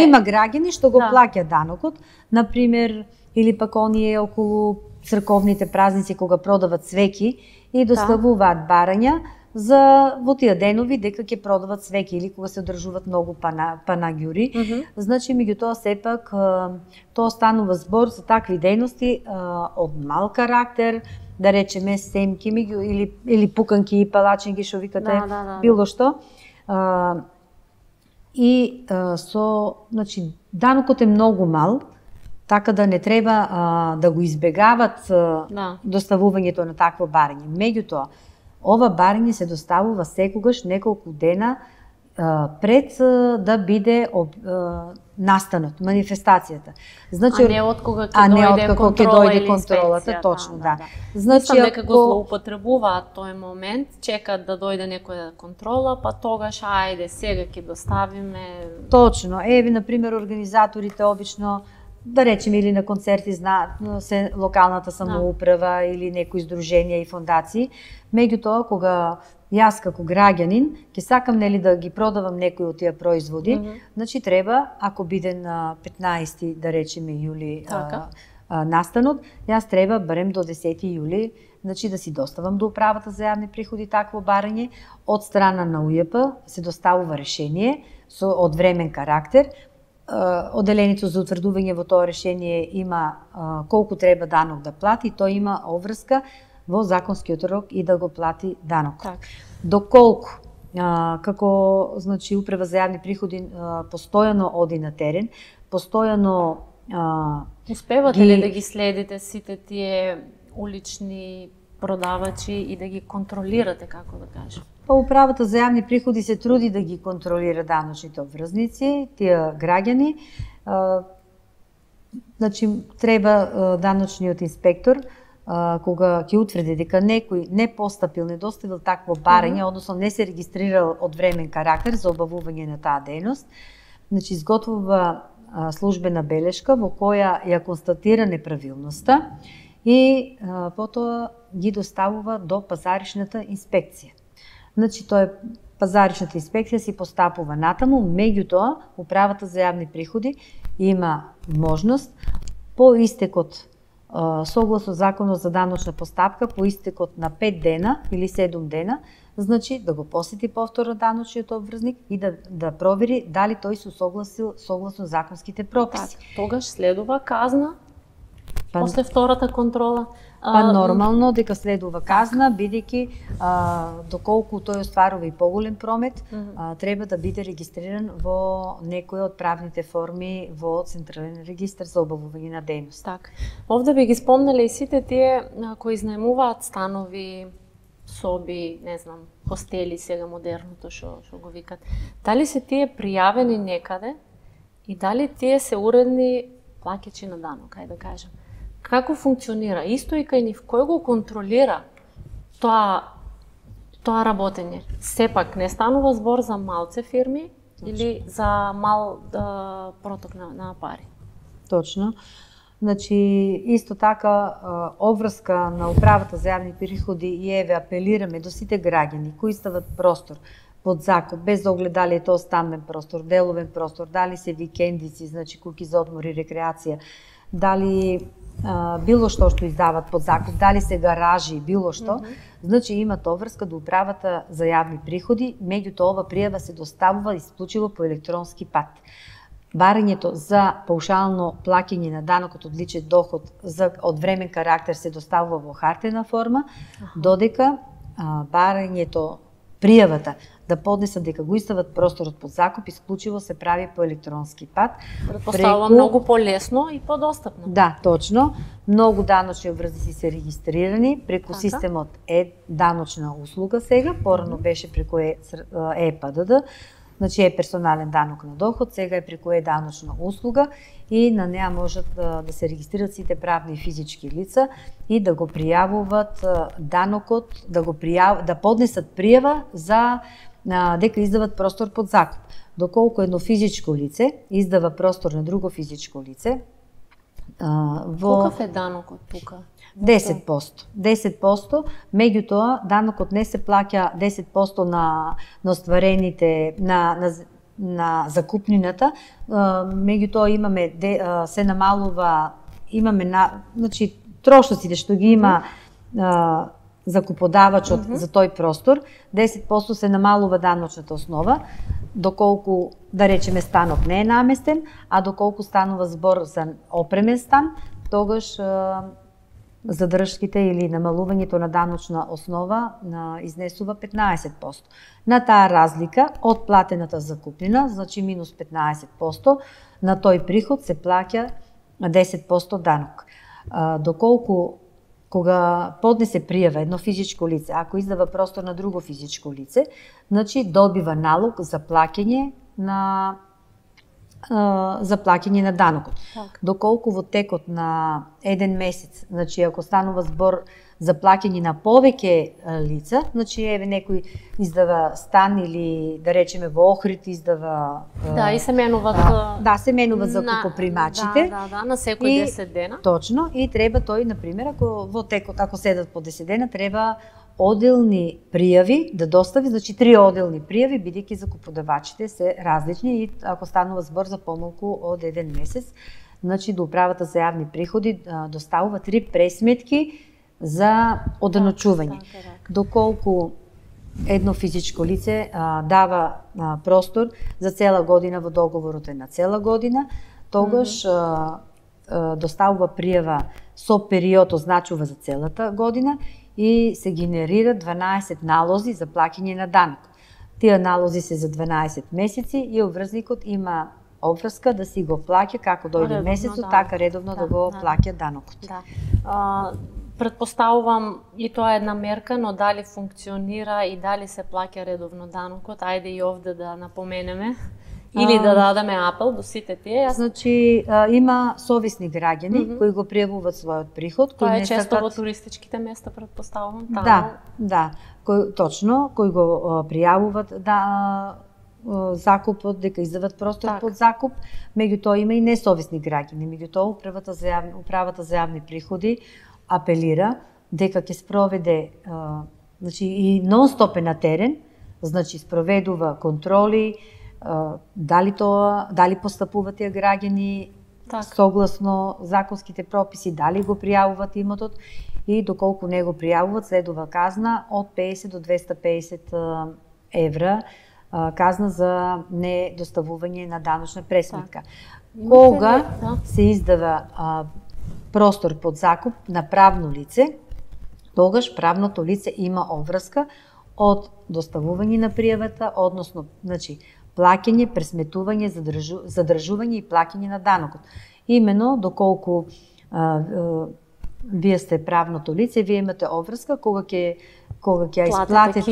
има граѓани што го плаќа данокот, например, или пак оние околу црковните празници кога продават свеќи и доставуваат барања за во тие денови дека ќе продават свеќи или кога се одржуваат многу панагјури. Значи, меѓутоа сепак тоа станува збор за такви дејности од мал карактер, да речеме семки или пуканки и палачинки што викате, било што. И значи, данокот е многу мал, така да не треба да го избегават доставувањето на такво барање. Меѓутоа, ова барање се доставува секогаш неколку дена пред да биде настанот, манифестацијата. Значи, а не од кога ќе дојде контролата, точно, да. Значи, дека го злоупотребуваат тој момент, чекаат да дојде некоја контрола, па тогаш ајде сега ќе доставиме. Точно. Еве, на пример, организаторите обично да речеме или на концерти се локалната самоуправа или некои здруженија и фондации. Меѓутоа, кога јас како граѓанин ќе сакам да ги продавам некои од тие производи, значи треба, ако биде на 15 да речеме јули настанот, јас треба барем до 10 јули значи да си доставам до управата за јавни приходи такво барање. Од страна на УЈП се доставува решение од времен карактер. Оделението за утврдување во тоа решение има колку треба данок да плати, тој има обврска во законскиот рок и да го плати данок. Доколку како значи управа за јавни приходи постојано оди на терен, постојано успевате ли да ги следите сите тие улични продавачи и да ги контролирате, како да кажем? Па управата за јавни приходи се труди да ги контролира даночните обврзници, тие граѓани. Значи треба даночниот инспектор кога ќе утврди дека некој не постапил, не доставил такво барање, односно не се регистрирал од времен карактер за обавување на таа дејност, значи изготвува службена белешка во која ја констатира неправилноста и потоа ги доставува до пазаришната инспекција. Значи пазаришната инспекција си постапува натаму, меѓутоа управата за јавни приходи има можност по истекот согласно законот за даночна постапка, по истекот на 5 дена или 7 дена, значи да го посети повторно даночниот обврзник и да провери дали тој се согласил согласно законските прописи. Тогаш следува казна после втората контрола? Нормално дека следува казна, бидејќи доколку тој остварува и поголем промет, треба да биде регистриран во некоја од правните форми во Централен регистар за обавување на дејност. Овде би ги спомнале и сите тие кои изнаемуваат станови, соби, не знам, хостели, сега модерното што го викат. Дали се тие пријавени некаде и дали тие се уредни плаќачи на данок, ајде да кажем? Како функционира? Исто и кај нив, кој го контролира тоа работење? Сепак не станува збор за малце фирми или за мал проток на пари? Точно. Значи, исто така, обврска на управата за јавни приходи и еве апелираме до сите граѓани кои стават простор под закуп, без оглед дали е тоа стамбен простор, деловен простор, дали се викендици, значи куќи за одмор и рекреација, дали било што издават под закуп, дали се гаражи, било што, значи имат обврска до управата за јавни приходи, меѓутоа ова пријава се доставува исклучиво по електронски пат. Барањето за паушално плаќање на данокот од личен доход од времен карактер се доставува во хартена форма, додека барањето, пријавата да поднесат дека го издават просторот под закуп, исклучиво се прави по електронски пат. Претпоставувам многу полесно и подостапно. Да, точно. Многу даночни обврзници се регистрирани преку системот даночна услуга сега, порано беше преку ПДД, значи е персонален данок на доход, сега е преку даночна услуга и на неа можат да се регистрират сите правни и физички лица и да го пријавуваат данокот, да поднесат пријава за дека издават простор под закуп. Доколку едно физичко лице издава простор на друго физичко лице, колкав е данокот тука? 10%. 10%, меѓутоа данокот не се плаќа 10% на остварените на закупнината, меѓутоа имаме се намалува, значи трошоците што ги има закуподавачот за тој простор, 10% се намалува даночната основа, доколку, да речеме, станот не е наместен, а доколку станува збор за опремен стан, тогаш задршките или намалувањето на даночна основа изнесува 15%. На таа разлика од платената закупнина, значи минус 15%, на тој приход се плаќа 10% данок. Доколку кога поднесе пријава едно физичко лице, ако издава простор на друго физичко лице, значи добива налог за плаќање на за плаќање на данокот. Так. Доколку во текот на еден месец, значи ако станува збор за плаќање на повеќе лица, значи еве некој издава стан или да речеме во Охрид издава Да, и се менуваат се менуваат закупопримачите. На секој 10 дена. Точно, и треба тој на пример ако седат по 10 дена треба оделни пријави да достави, значи 3 оделни пријави, бидејќи закуподавачите се различни и ако станува збор за помалку од еден месец, значи до управата за јавни приходи доставува 3 пресметки за оданочување. Доколку едно физичко лице дава простор за цела година во договорот е на цела година, тогаш доставува пријава со период означува за целата година и се генерира 12 налози за плаќање на данок. Тие налози се за 12 месеци и обврзникот има обврска да си го плаќа како дојде месецот, така редовно да го плаќа данокот. Претпоставувам и тоа е една мерка, но дали функционира и дали се плаќа редовно данокот, ајде и овде да напоменеме. Или да дадеме апел до сите тие. Значи има совесни граѓани кои го пријавуваат својот приход, кои не често во туристичките места претпоставувам. Точно, кои го пријавуваат закупот, дека издават простор под закуп. Меѓутоа има и несовесни граѓани. Меѓутоа управата за јавни приходи апелира дека ќе спроведе значи и нон-стоп на терен, значи спроведува контроли, дали постапуваат тие граѓани согласно законските прописи, дали го пријавуваат имотот и доколку не го пријавуваат следува казна од 50 до 250 евра казна за недоставување на даночна пресметка. Кога се издава простор под закуп на правно лице, тогаш правното лице има обврска од доставување на пријавата, односно, значи, плаќање, пресметување, задржување и плаќање на данокот. Имено, доколку вие сте правното лице, вие имате обврска кога ќе ја исплатите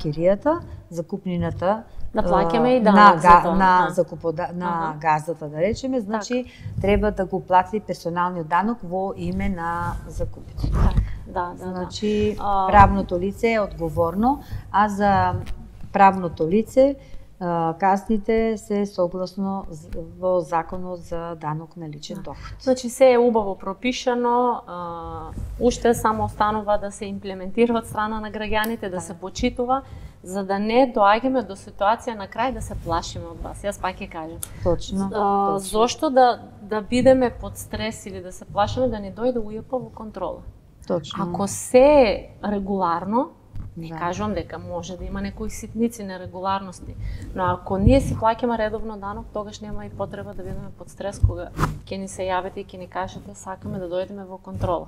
киријата, закупнината да плаќаме и данок на газдата, да речеме, значи треба да го плати персоналниот данок во име на закупницот. Значи правното лице е одговорно, а за правното лице казните се согласно во законот за данок на личен доход. Значи се е убаво пропишано, уште само останува да се имплементира од страна на граѓаните, да се почитува, за да не доаѓаме до ситуација на крај да се плашиме од вас. Јас пак ќе кажам. Точно. Зошто да бидеме под стрес или да се плашиме да не дојде УЈП во контрола? Точно. Ако се е регуларно, не кажувам дека може да има некои ситници нерегуларности, но ако ние си плаќаме редовно данок, тогаш нема и потреба да бидеме под стрес кога ќе ни се јавите и ќе ни кажете сакаме да дојдеме во контрола.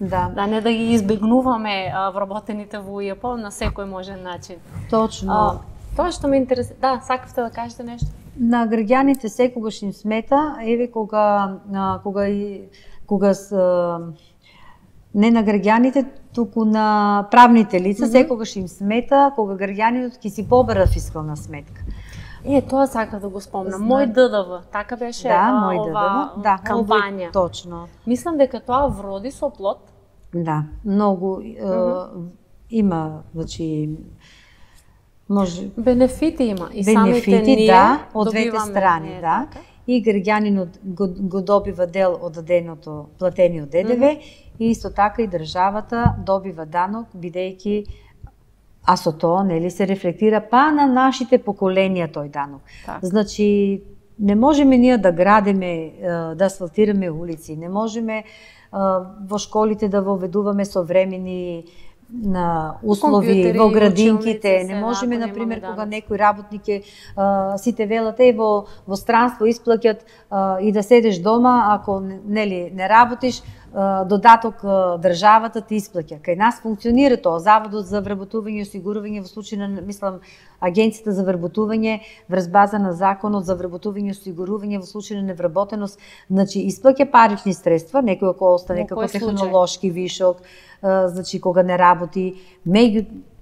Да не да ги избегнуваме вработените во УЈП на секој можен начин. Точно. Тоа што ме интересира, да, сакавте да кажете нешто? На граѓаните секогаш им смета, еве кога не на граѓаните, туку на правните лица, секогаш им смета кога граѓанинот ќе си побара фискална сметка. Тоа сакав да го спомнам. Мој ДДВ, така беше ова кампања. Точно. Мислам дека тоа вроди со плод. Да, многу има, значи може бенефити има и самите ние од двете страни, И граѓанинот го добива дел од даденото платениот ДДВ и исто така и државата добива данок бидејќи со тоа нели се рефлектира на нашите поколенија тој данок. Значи не можеме ние да градиме, да асфалтираме улици, не можеме во школите да воведуваме современи на услови во градинките, не можеме на пример кога некој работник сите велат во странство исплаќат и да седеш дома, ако нели не работиш, додаток државата ти исплаќа. Кај нас функционира тоа, Заводот за вработување и осигурување во случај на, мислам, Агенцијата за вработување врз база на Законот за вработување и осигурување во случај на невработеност, значи исплаќа парични средства, некој ако остане како технолошки вишок, значи кога не работи,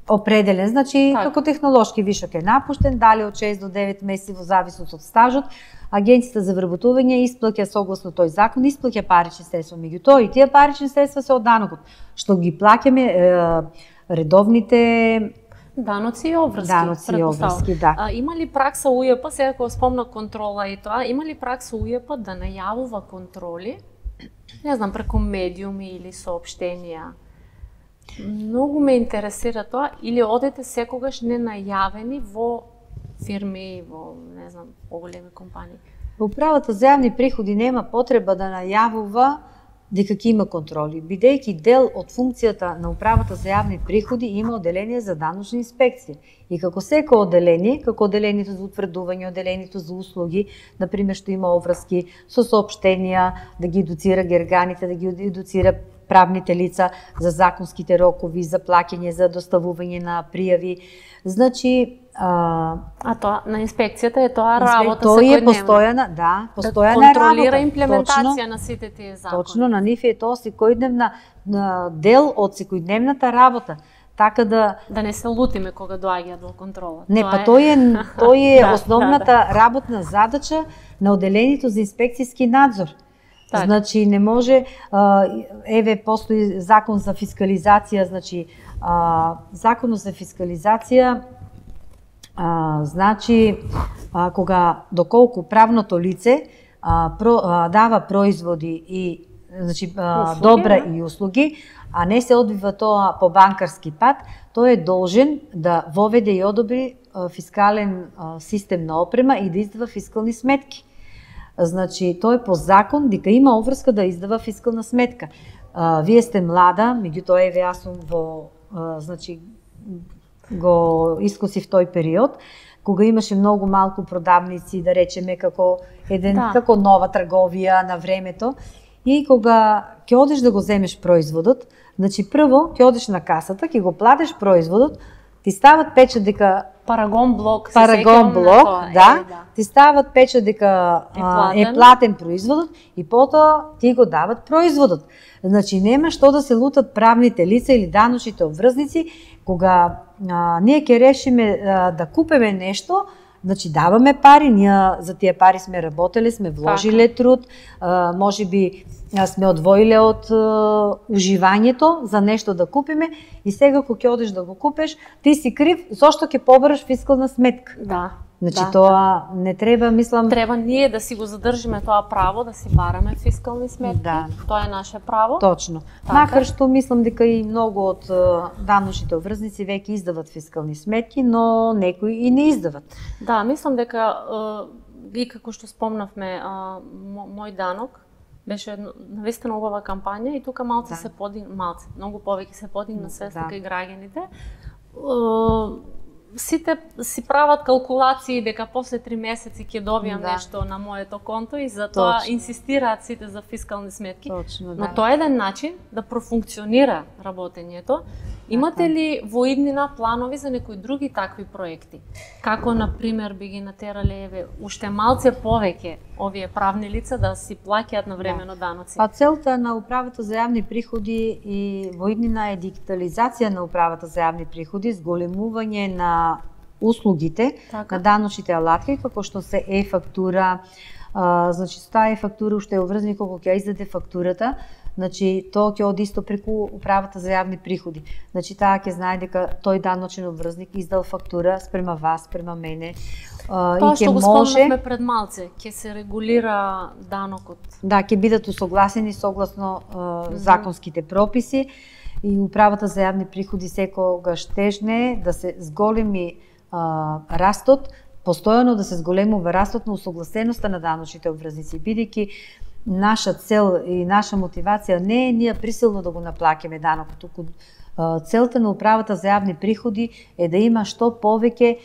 определен, значи како технолошки вишок е напуштен, дали од 6 до 9 месеци во зависност од стажот, Агенцијата за вработување исплаќа согласно тој закон, исплаќа парични средства, меѓутоа и тие парични средства се од данокот, што ги плаќаме редовните даноци и обврски. Даноци и обврски, да. Има ли пракса УЈП, сега кога спомна контрола и тоа, има ли пракса УЈП да најавува контроли, не знам, преку медиуми или соопштенија? Многу ме интересира тоа, или одете секогаш ненајавени во фирми, во, не знам, поголеми компании? Управата за јавни приходи нема потреба да најавува дека ќе има контроли, бидејќи дел од функцијата на Управата за јавни приходи има оделение за даночни инспекции. И како секој оделение, како оделението за утврдување, оделението за услуги, например што има обврски со соопштенија, да ги едуцира герганите, да ги едуцира правните лица за законските рокови, за плаќање, за доставување на пријави. Значи, тоа на инспекцијата е тоа работа тоа е постојана, да, постојана да контролира работа. Имплементација на сите тие закони. Точно, на нив е тоа секојдневна дел од секојдневната работа. Така да не се лутиме кога доаѓаат во контрола. Не, па тој е основната работна задача на оделението за инспекцијски надзор. Так. Значи не може, еве постои закон за фискализација, значи законот за фискализација значи кога доколку правното лице дава производи и значи добра и услуги, а не се одвива тоа по банкарски пат, тој е должен да воведе и одобри фискален систем на опрема и да издава фискални сметки. Значи, тој по закон дека има обврска да издава фискална сметка. Вие сте млада, меѓутоа еве јас сум во значи го искусив тој период кога имаше многу малку продавници, да речеме како како нова трговија на времето, и кога ќе одиш да го земеш производот, значи прво ќе одиш на касата, ќе го платиш производот, ти стават печат дека Парагон блок, да, ти стават печат дека е платен производот и потоа ти го дават производот. Значи нема што да се лутат правните лица или даночните обврзници кога ние ќе решиме да купиме нешто. Значи даваме пари, ние за тие пари сме работеле, сме вложиле труд, можеби сме одвоиле од уживањето за нешто да купиме и сега кога ќе одиш да го купиш, ти си крив зошто ќе побараш фискална сметка. Да. Значи тоа не треба, мислам... Треба ние да си го задржиме тоа право, да си бараме фискални сметки. Да. Тоа е наше право. Точно. Така. Макар што мислам дека и многу од даночните обврзници веќе издават фискални сметки, но некои и не издават. Да, мислам дека и како што спомнавме, мој данок беше навистина убава кампања и тука малце се многу повеќе се подигна свеста кај граѓаните. Сите си прават калкулации дека после 3 месеци ќе добијам нешто на моето конто и затоа инсистираат сите за фискални сметки. Точно, но тоа е еден начин да профункционира работењето. Имате ли во иднина планови за некои други такви проекти? Како, например, би ги натерале еве уште малце повеќе овие правни лица да си плаќаат навремено даноци? Па целта на Управата за јавни приходи и во иднина е дигитализација на Управата за јавни приходи, зголемување на услугите, на даночните алатки, како што се е-фактура. Значи, таа е-фактура уште е обврзана кога ќе издаде фактурата. Значи, тоа ќе оди исто преку Управата за јавни приходи. Значи, таа ќе знае дека тој даночен обврзник издал фактура спрема вас, спрема мене. Тоа што го спомнавме пред малце, ќе се регулира данокот. Да, ќе бидат усогласени согласно законските прописи и Управата за јавни приходи секогаш тежне да се зголеми растот, постојано да се зголемува растот на усогласеноста на даночните обврзници, бидејќи наша цел и наша мотивација не е ние присилно да го наплаќаме данокот, туку целта на Управата за јавни приходи е да има што повеќе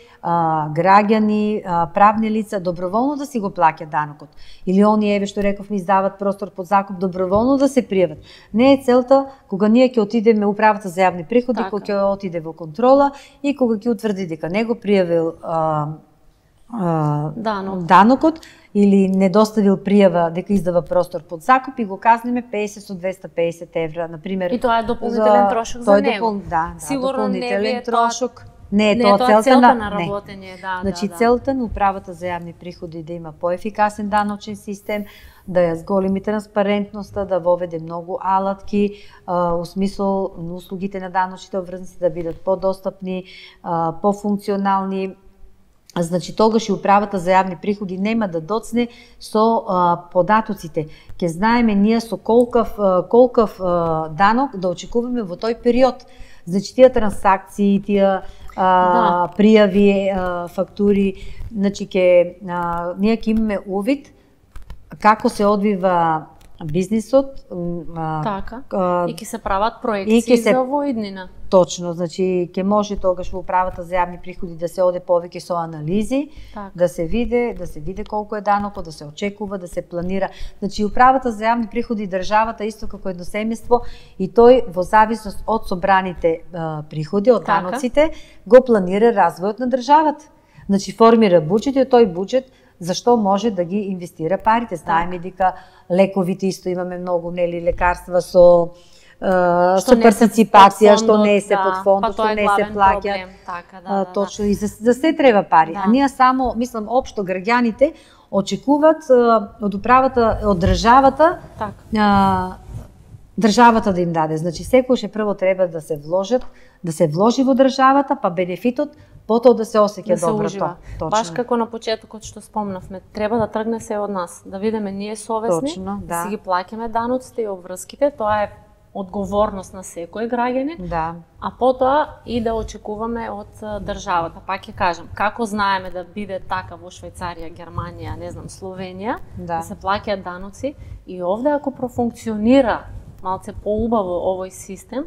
граѓани, правни лица доброволно да си го плаќат данокот. Или оние, еве што реков, ми издават простор под закуп, доброволно да се пријават. Не е целта кога ние ќе отидеме Управата за јавни приходи, кога ќе отиде во контрола и кога ќе утврди дека не го пријавил данокот или не доставил пријава дека издава простор под закуп и го казниме 50 со 250 евра, например. И тоа е дополнителен трошок за него. Сигурно дополнителен трошок. Не е тоа целта на работење, Значи целта на управата за јавни приходи да има поефикасен даночен систем, да ја зголеми транспарентноста, да воведе многу алатки, у смисол на услугите на даночните обврзници да бидат подостапни, пофункционални. Значи тогаш и управата за јавни приходи нема да доцне со податоците. Ќе знаеме ние со колкав данок да очекуваме во тој период. Значи тие трансакции, тие пријави, фактури, значи ние ќе имаме увид како се одвива бизнисот. Така, и ќе се прават проекции за воиднина. Точно, значи ќе може тогаш во управата за јавни приходи да се оде повеќе со анализи, да се види колку е данокот, да се очекува, да се планира. Значи управата за јавни приходи државата исто како едно семејство и тој во зависност од собраните приходи, од даноците, го планира развојот на државата. Значи формира буџет и тој буџет зашто може да ги инвестира парите. Знаеме дека лековите исто имаме многу лекарства со партиципација, што не се под фондот, што не се плаќа. Точно, и за се треба пари. А ние само, мислам, општо граѓаните очекуваат од управата, од државата, државата да им даде. Значи секојаш прво треба да се вложи во државата, па бенефитот потоа да се осеќа доброто. Баш како на почетокот што спомнавме, треба да тргне се од нас, да видиме ние совесни, да си ги плаќаме даноците и обврските, тоа е одговорност на секој граѓанин, а потоа и да очекуваме од државата. Пак ќе кажам, како знаеме да биде така во Швајцарија, Германија, не знам, Словенија, да се плаќаат даноци и овде ако профункционира малце поубаво овој систем,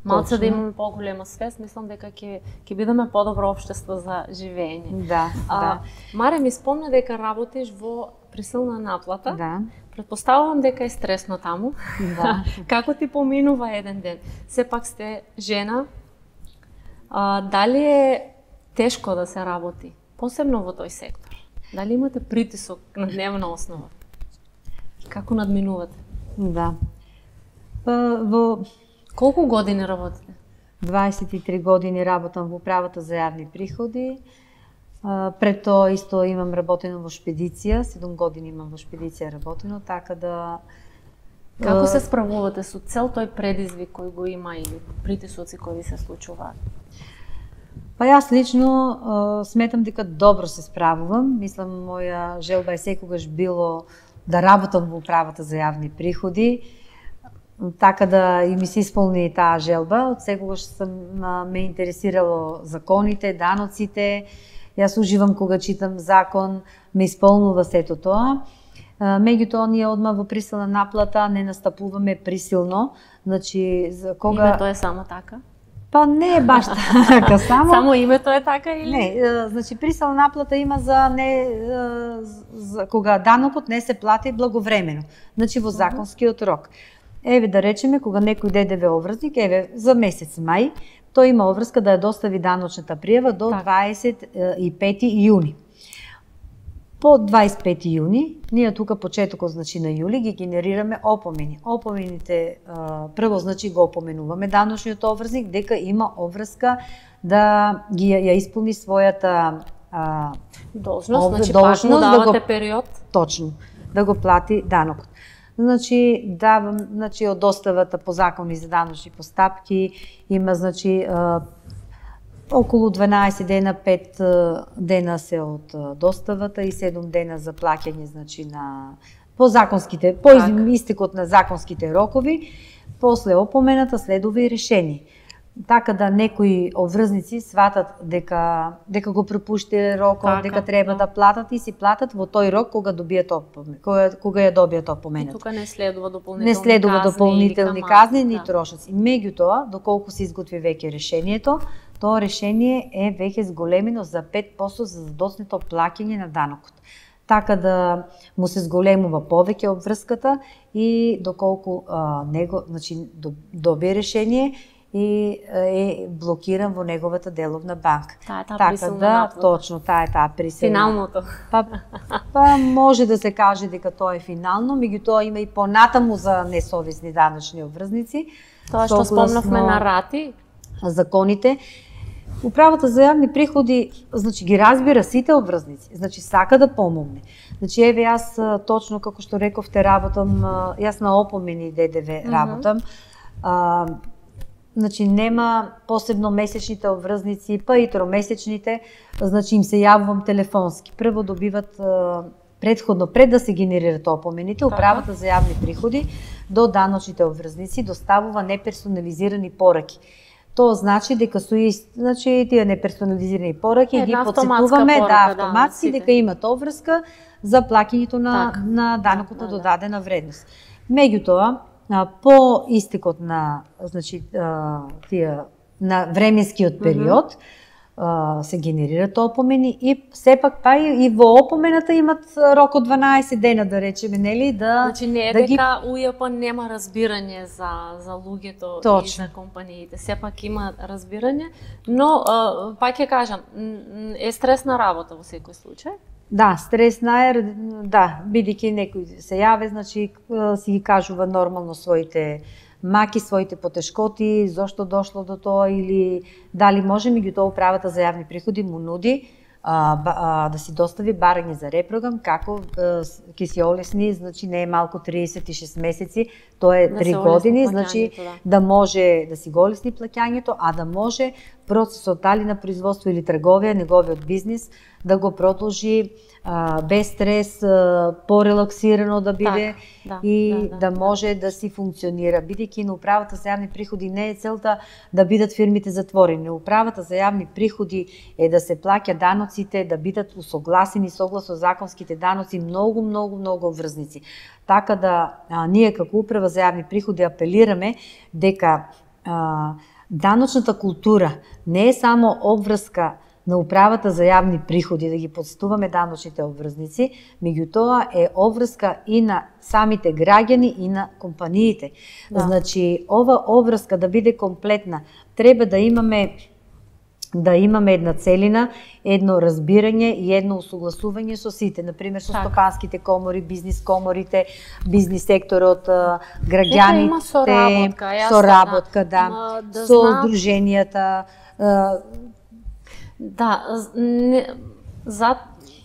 малце да имаме поголема свест, мислам дека ќе бидеме подобро општество за живење. Маре ми спомна дека работиш во присилна наплата. Предпоставувам дека е стресно таму. Како ти поминува еден ден? Сепак сте жена. Дали е тешко да се работи, посебно во тој сектор? Дали имате притисок на дневна основа? Како надминувате? Колку години работите? 23 години работам во управата за јавни приходи. Пред тоа исто имам работено во шпедиција, 7 години имам во шпедиција работено, така да... Како се справувате со цел тој предизвик кој го има или притисоци кои се случуваат? Па јас лично сметам дека добро се справувам. Мислам, моја желба е секогаш било да работам во управата за јавни приходи, така да и ми се исполни таа желба. Од секогаш ме интересирало законите, даноците. Јас уживам кога читам закон, ме исполнува сето тоа. Меѓутоа ние одма во присилна наплата не настапуваме присилно. Значи кога името е само така? Па не е баш така, само името е така или? Не, значи присилна наплата има за кога данокот не се плати благовремено. Значи во законскиот рок. Еве да речеме кога некој ДДВ обврзник, за месец мај, тој има обврска да ја достави даночната пријава до 25 јуни. По 25 јуни, ние тука почетокот значи на јули ги генерираме опомени. Опомените прво значи го опоменуваме даночниот обврзник дека има обврска да ја исполни својата должност, значи пак му давате период. Точно, да го плати данокот. Значи од доставата по закони за даночни постапки има значи околу 12 дена, 5 дена се од доставата и 7 дена за плаќање значи по истекот на законските рокови. После опомената следува и решение. Така да некои обврзници сватат дека го пропушти рокот, дека треба да платат и си платат во тој рок кога добијат кога ја добијат опомената. Тука не следува дополнителни казни ни трошоци. Меѓутоа, доколку се изготви веќе решението, тоа решение е веќе зголемено за 5% за задоцнето плаќање на данокот. Така да му се зголемува повеќе обврската и доколку него значи добие решение и е блокиран во неговата деловна банка. Така да, точно, таа присилна. Финалното. Па може да се каже дека тоа е финално, меѓутоа има и понатаму за несовесни даночни обврзници. Тоа што спомнавме на рати, законите. Управата за јавни приходи, значи ги разбира сите обврзници, значи сака да помогне. Значи еве јас точно како што рековте работам, јас на опомени ДДВ работам. Значи нема посебно месечните обврзници, па и тромесечните, значи им се јавувам телефонски. Прво добиват предходно, пред да се генерират опомените, Управата за јавни приходи до даночните обврзници доставува неперсонализирани пораки. Тоа значи дека значи тие неперсонализирани пораки ги подсетуваме автоматски дека имат обврска за плаќањето на данокот на додадена вредност. Меѓутоа, по истекот на значи на временскиот период се генерираат опомени и сепак па и во опомената имат рок од 12 дена, да речеме, нели, да значи не е дека УЈП нема разбирање за луѓето и за компаниите. Сепак има разбирање, но пак ќе кажам, е стресна работа во секој случај. Да, стресна е, бидејќи некој се јаве, значи си ги кажува нормално своите маки, своите потешкоти, зошто дошло до тоа или дали може, меѓутоа Управата за јавни приходи му нуди да си достави барање за репрограм, како ќе си олесни, значи не е малку 36 месеци, тоа е 3 години, значи да може да си го олесни плаќањето, а да може процесот дали на производство или трговија, неговиот бизнис, да го продолжи без стрес, порелаксирано да биде да може да си функционира. Бидејќи на Управата за јавни приходи не е целта да бидат фирмите затворени. Управата за јавни приходи е да се плаќа даноците, да бидат усогласени согласно законските даноци многу обврзници. Така да ние како Управа за јавни приходи апелираме дека даночната култура не е само обврска на Управата за јавни приходи, да ги подстуваме даночните обврзници, меѓутоа е обврска и на самите граѓани и на компаниите. Значи, ова обврска да биде комплетна, треба да имаме една целина, едно разбирање и едно усогласување со сите, например со стопанските комори, бизнис коморите, бизнис секторот, граѓаните, соработка, со здруженијата.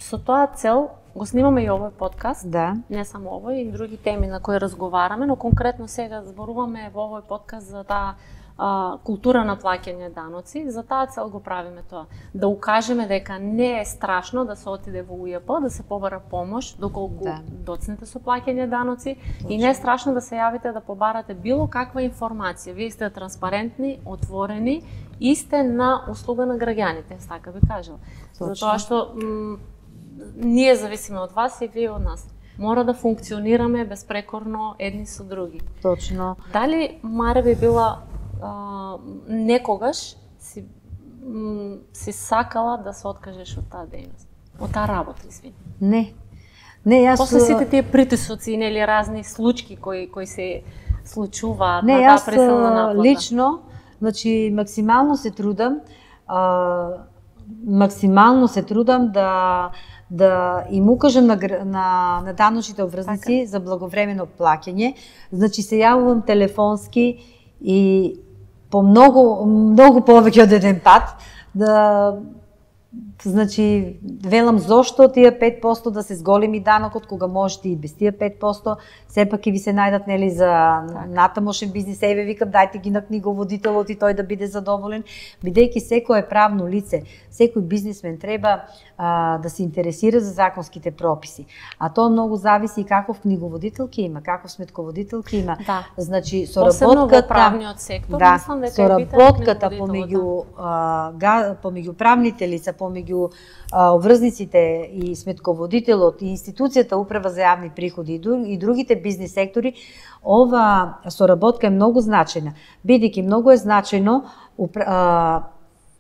Со тоа цел го снимаме и овој подкаст, не само овој, и други теми на кои разговараме, но конкретно сега зборуваме во овој подкаст за таа култура на плаќање даноци. За таа цел го правиме тоа. Да укажеме дека не е страшно да се отиде во УЈП, да се побара помош доколку доцнете со плаќање даноци и не е страшно да се јавите да побарате било каква информација. Вие сте транспарентни, отворени и сте на услуга на граѓаните, така би кажал. Затоа што ние зависиме од вас и вие од нас. Мора да функционираме безпрекорно едни со други. Точно. Дали Маре би била некогаш си сакала да се откажеш од таа дејност, од таа работа, извини? Не, јас... После сите тие притисоци, нели, разни случаи кои се случуваат на таа пресилна наплата. Не, јас лично, значи, максимално се трудам да им укажам на даночните обврзници за благовремено плаќање. Значи, се јавувам телефонски и по многу повеќе од еден пат, значи, велам зошто тие 5% да се зголеми данокот, кога можете и без тие 5%, сепак ќе ви се најдат, нели, за натамошен бизнис, еве викам, дајте ги на книговодителот и тој да биде задоволен, бидејќи секое правно лице, секој бизнисмен треба да се интересира за законските прописи. А тоа многу зависи и каков книговодител ќе има, каков сметководител ќе има. Значи, соработката, правниот сектор, мислам дека соработката помеѓу правните лица, помеѓу обврзниците и сметководителот и институцијата Управа за јавни приходи и другите бизнис сектори, ова соработка е многу значајна, бидејќи многу е значајно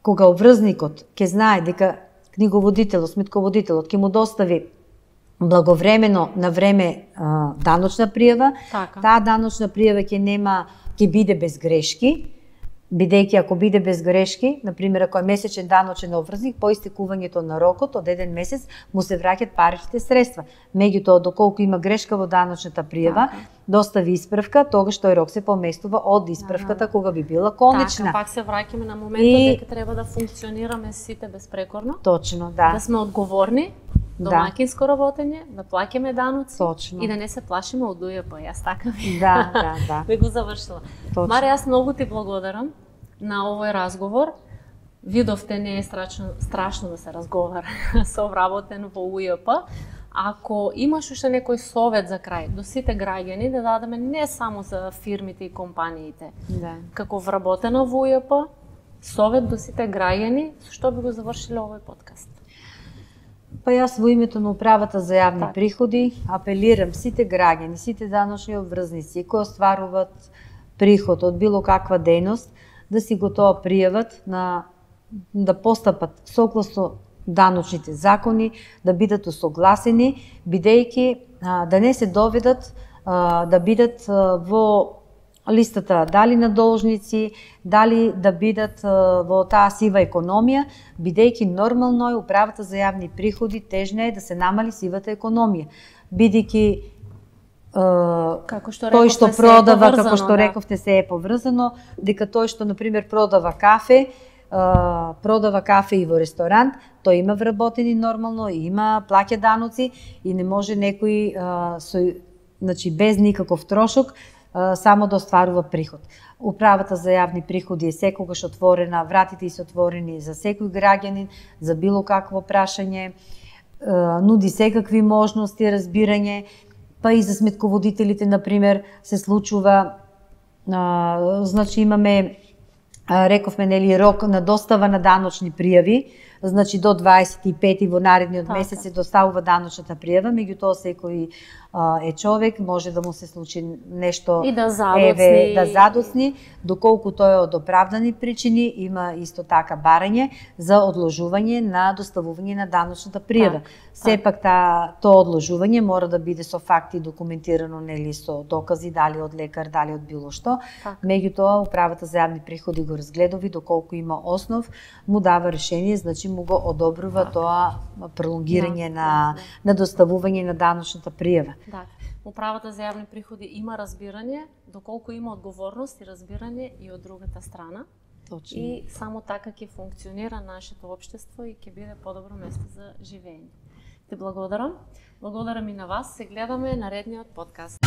кога обврзникот ќе знае дека книговодителот, сметководителот ќе му достави благовремено на време даночна пријава, таа даночна пријава ќе биде без грешки, Бидејќи ако биде без грешки, на пример ако е месечен даночен обврзник, по истекувањето на рокот од еден месец му се враќаат паричните средства. Меѓутоа, доколку има грешка во даночната пријава, достави исправка, тогаш тој рок се поместува од исправката кога би била конечна. Така, пак се враќаме на моментот дека треба да функционираме сите безпрекорно. Точно, да. Да сме одговорни, домаќинско работење, да плаќаме даноци. Точно. И да не се плашиме од УЈП. Јас така ви. Да. Би го завршила. Точно. Марија, јас многу ти благодарам на овој разговор. Видовте, не е страшно да се разговара со вработен во УЈП. Ако имаш уште некој совет за крај до сите граѓани, да дадеме не само за фирмите и компаниите, како вработена во УЈП, совет до сите граѓани, со што би го завршиле овој подкаст? Па јас во името на Управата за јавни приходи апелирам сите граѓани, сите даночни обврзници кои остваруваат приход од било каква дејност, да си го тоа пријават да постапат согласно даночните закони, да бидат усогласени, бидејќи да не се доведат да бидат во листата дали на должници, дали да бидат во таа сива економија, бидејќи нормално е Управата за јавни приходи тежна е да се намали сивата економија, бидејќи тој што продава, како што рековте, се е поврзано, дека тој што на пример продава кафе и во ресторант, тој има вработени нормално, има плаќа даноци и не може некој без никаков трошок само да остварува приход. Управата за јавни приходи е секогаш отворена, вратите се отворени за секој граѓанин, за било какво прашање, нуди секакви можности, разбирање, па и за сметководителите, например, се случува, имаме, рековме, нели, рок на достава на даночни пријави, до 25 во наредниот месец се доставува даночната пријава, меѓутоа секој е човек, може да му се случи нешто и да задоцни, доколку тоа е од оправдани причини, има исто така барање за одложување на доставување на даночната пријава. Сепак тоа одложување мора да биде со факти документирано, нели, со докази, дали од лекар, дали од било што. Меѓутоа Управата за јавни приходи го разгледува и доколку има основ, му дава решение, значи му го одобрува тоа пролонгирање на доставување на даночната пријава. Да. Управата за јавни приходи има разбирање, доколку има одговорност и разбирање и од другата страна. Точно. И само така ќе функционира нашето општество и ќе биде подобро место за живење. Ти благодарам. Благодарам и на вас. Се гледаме наредниот подкаст.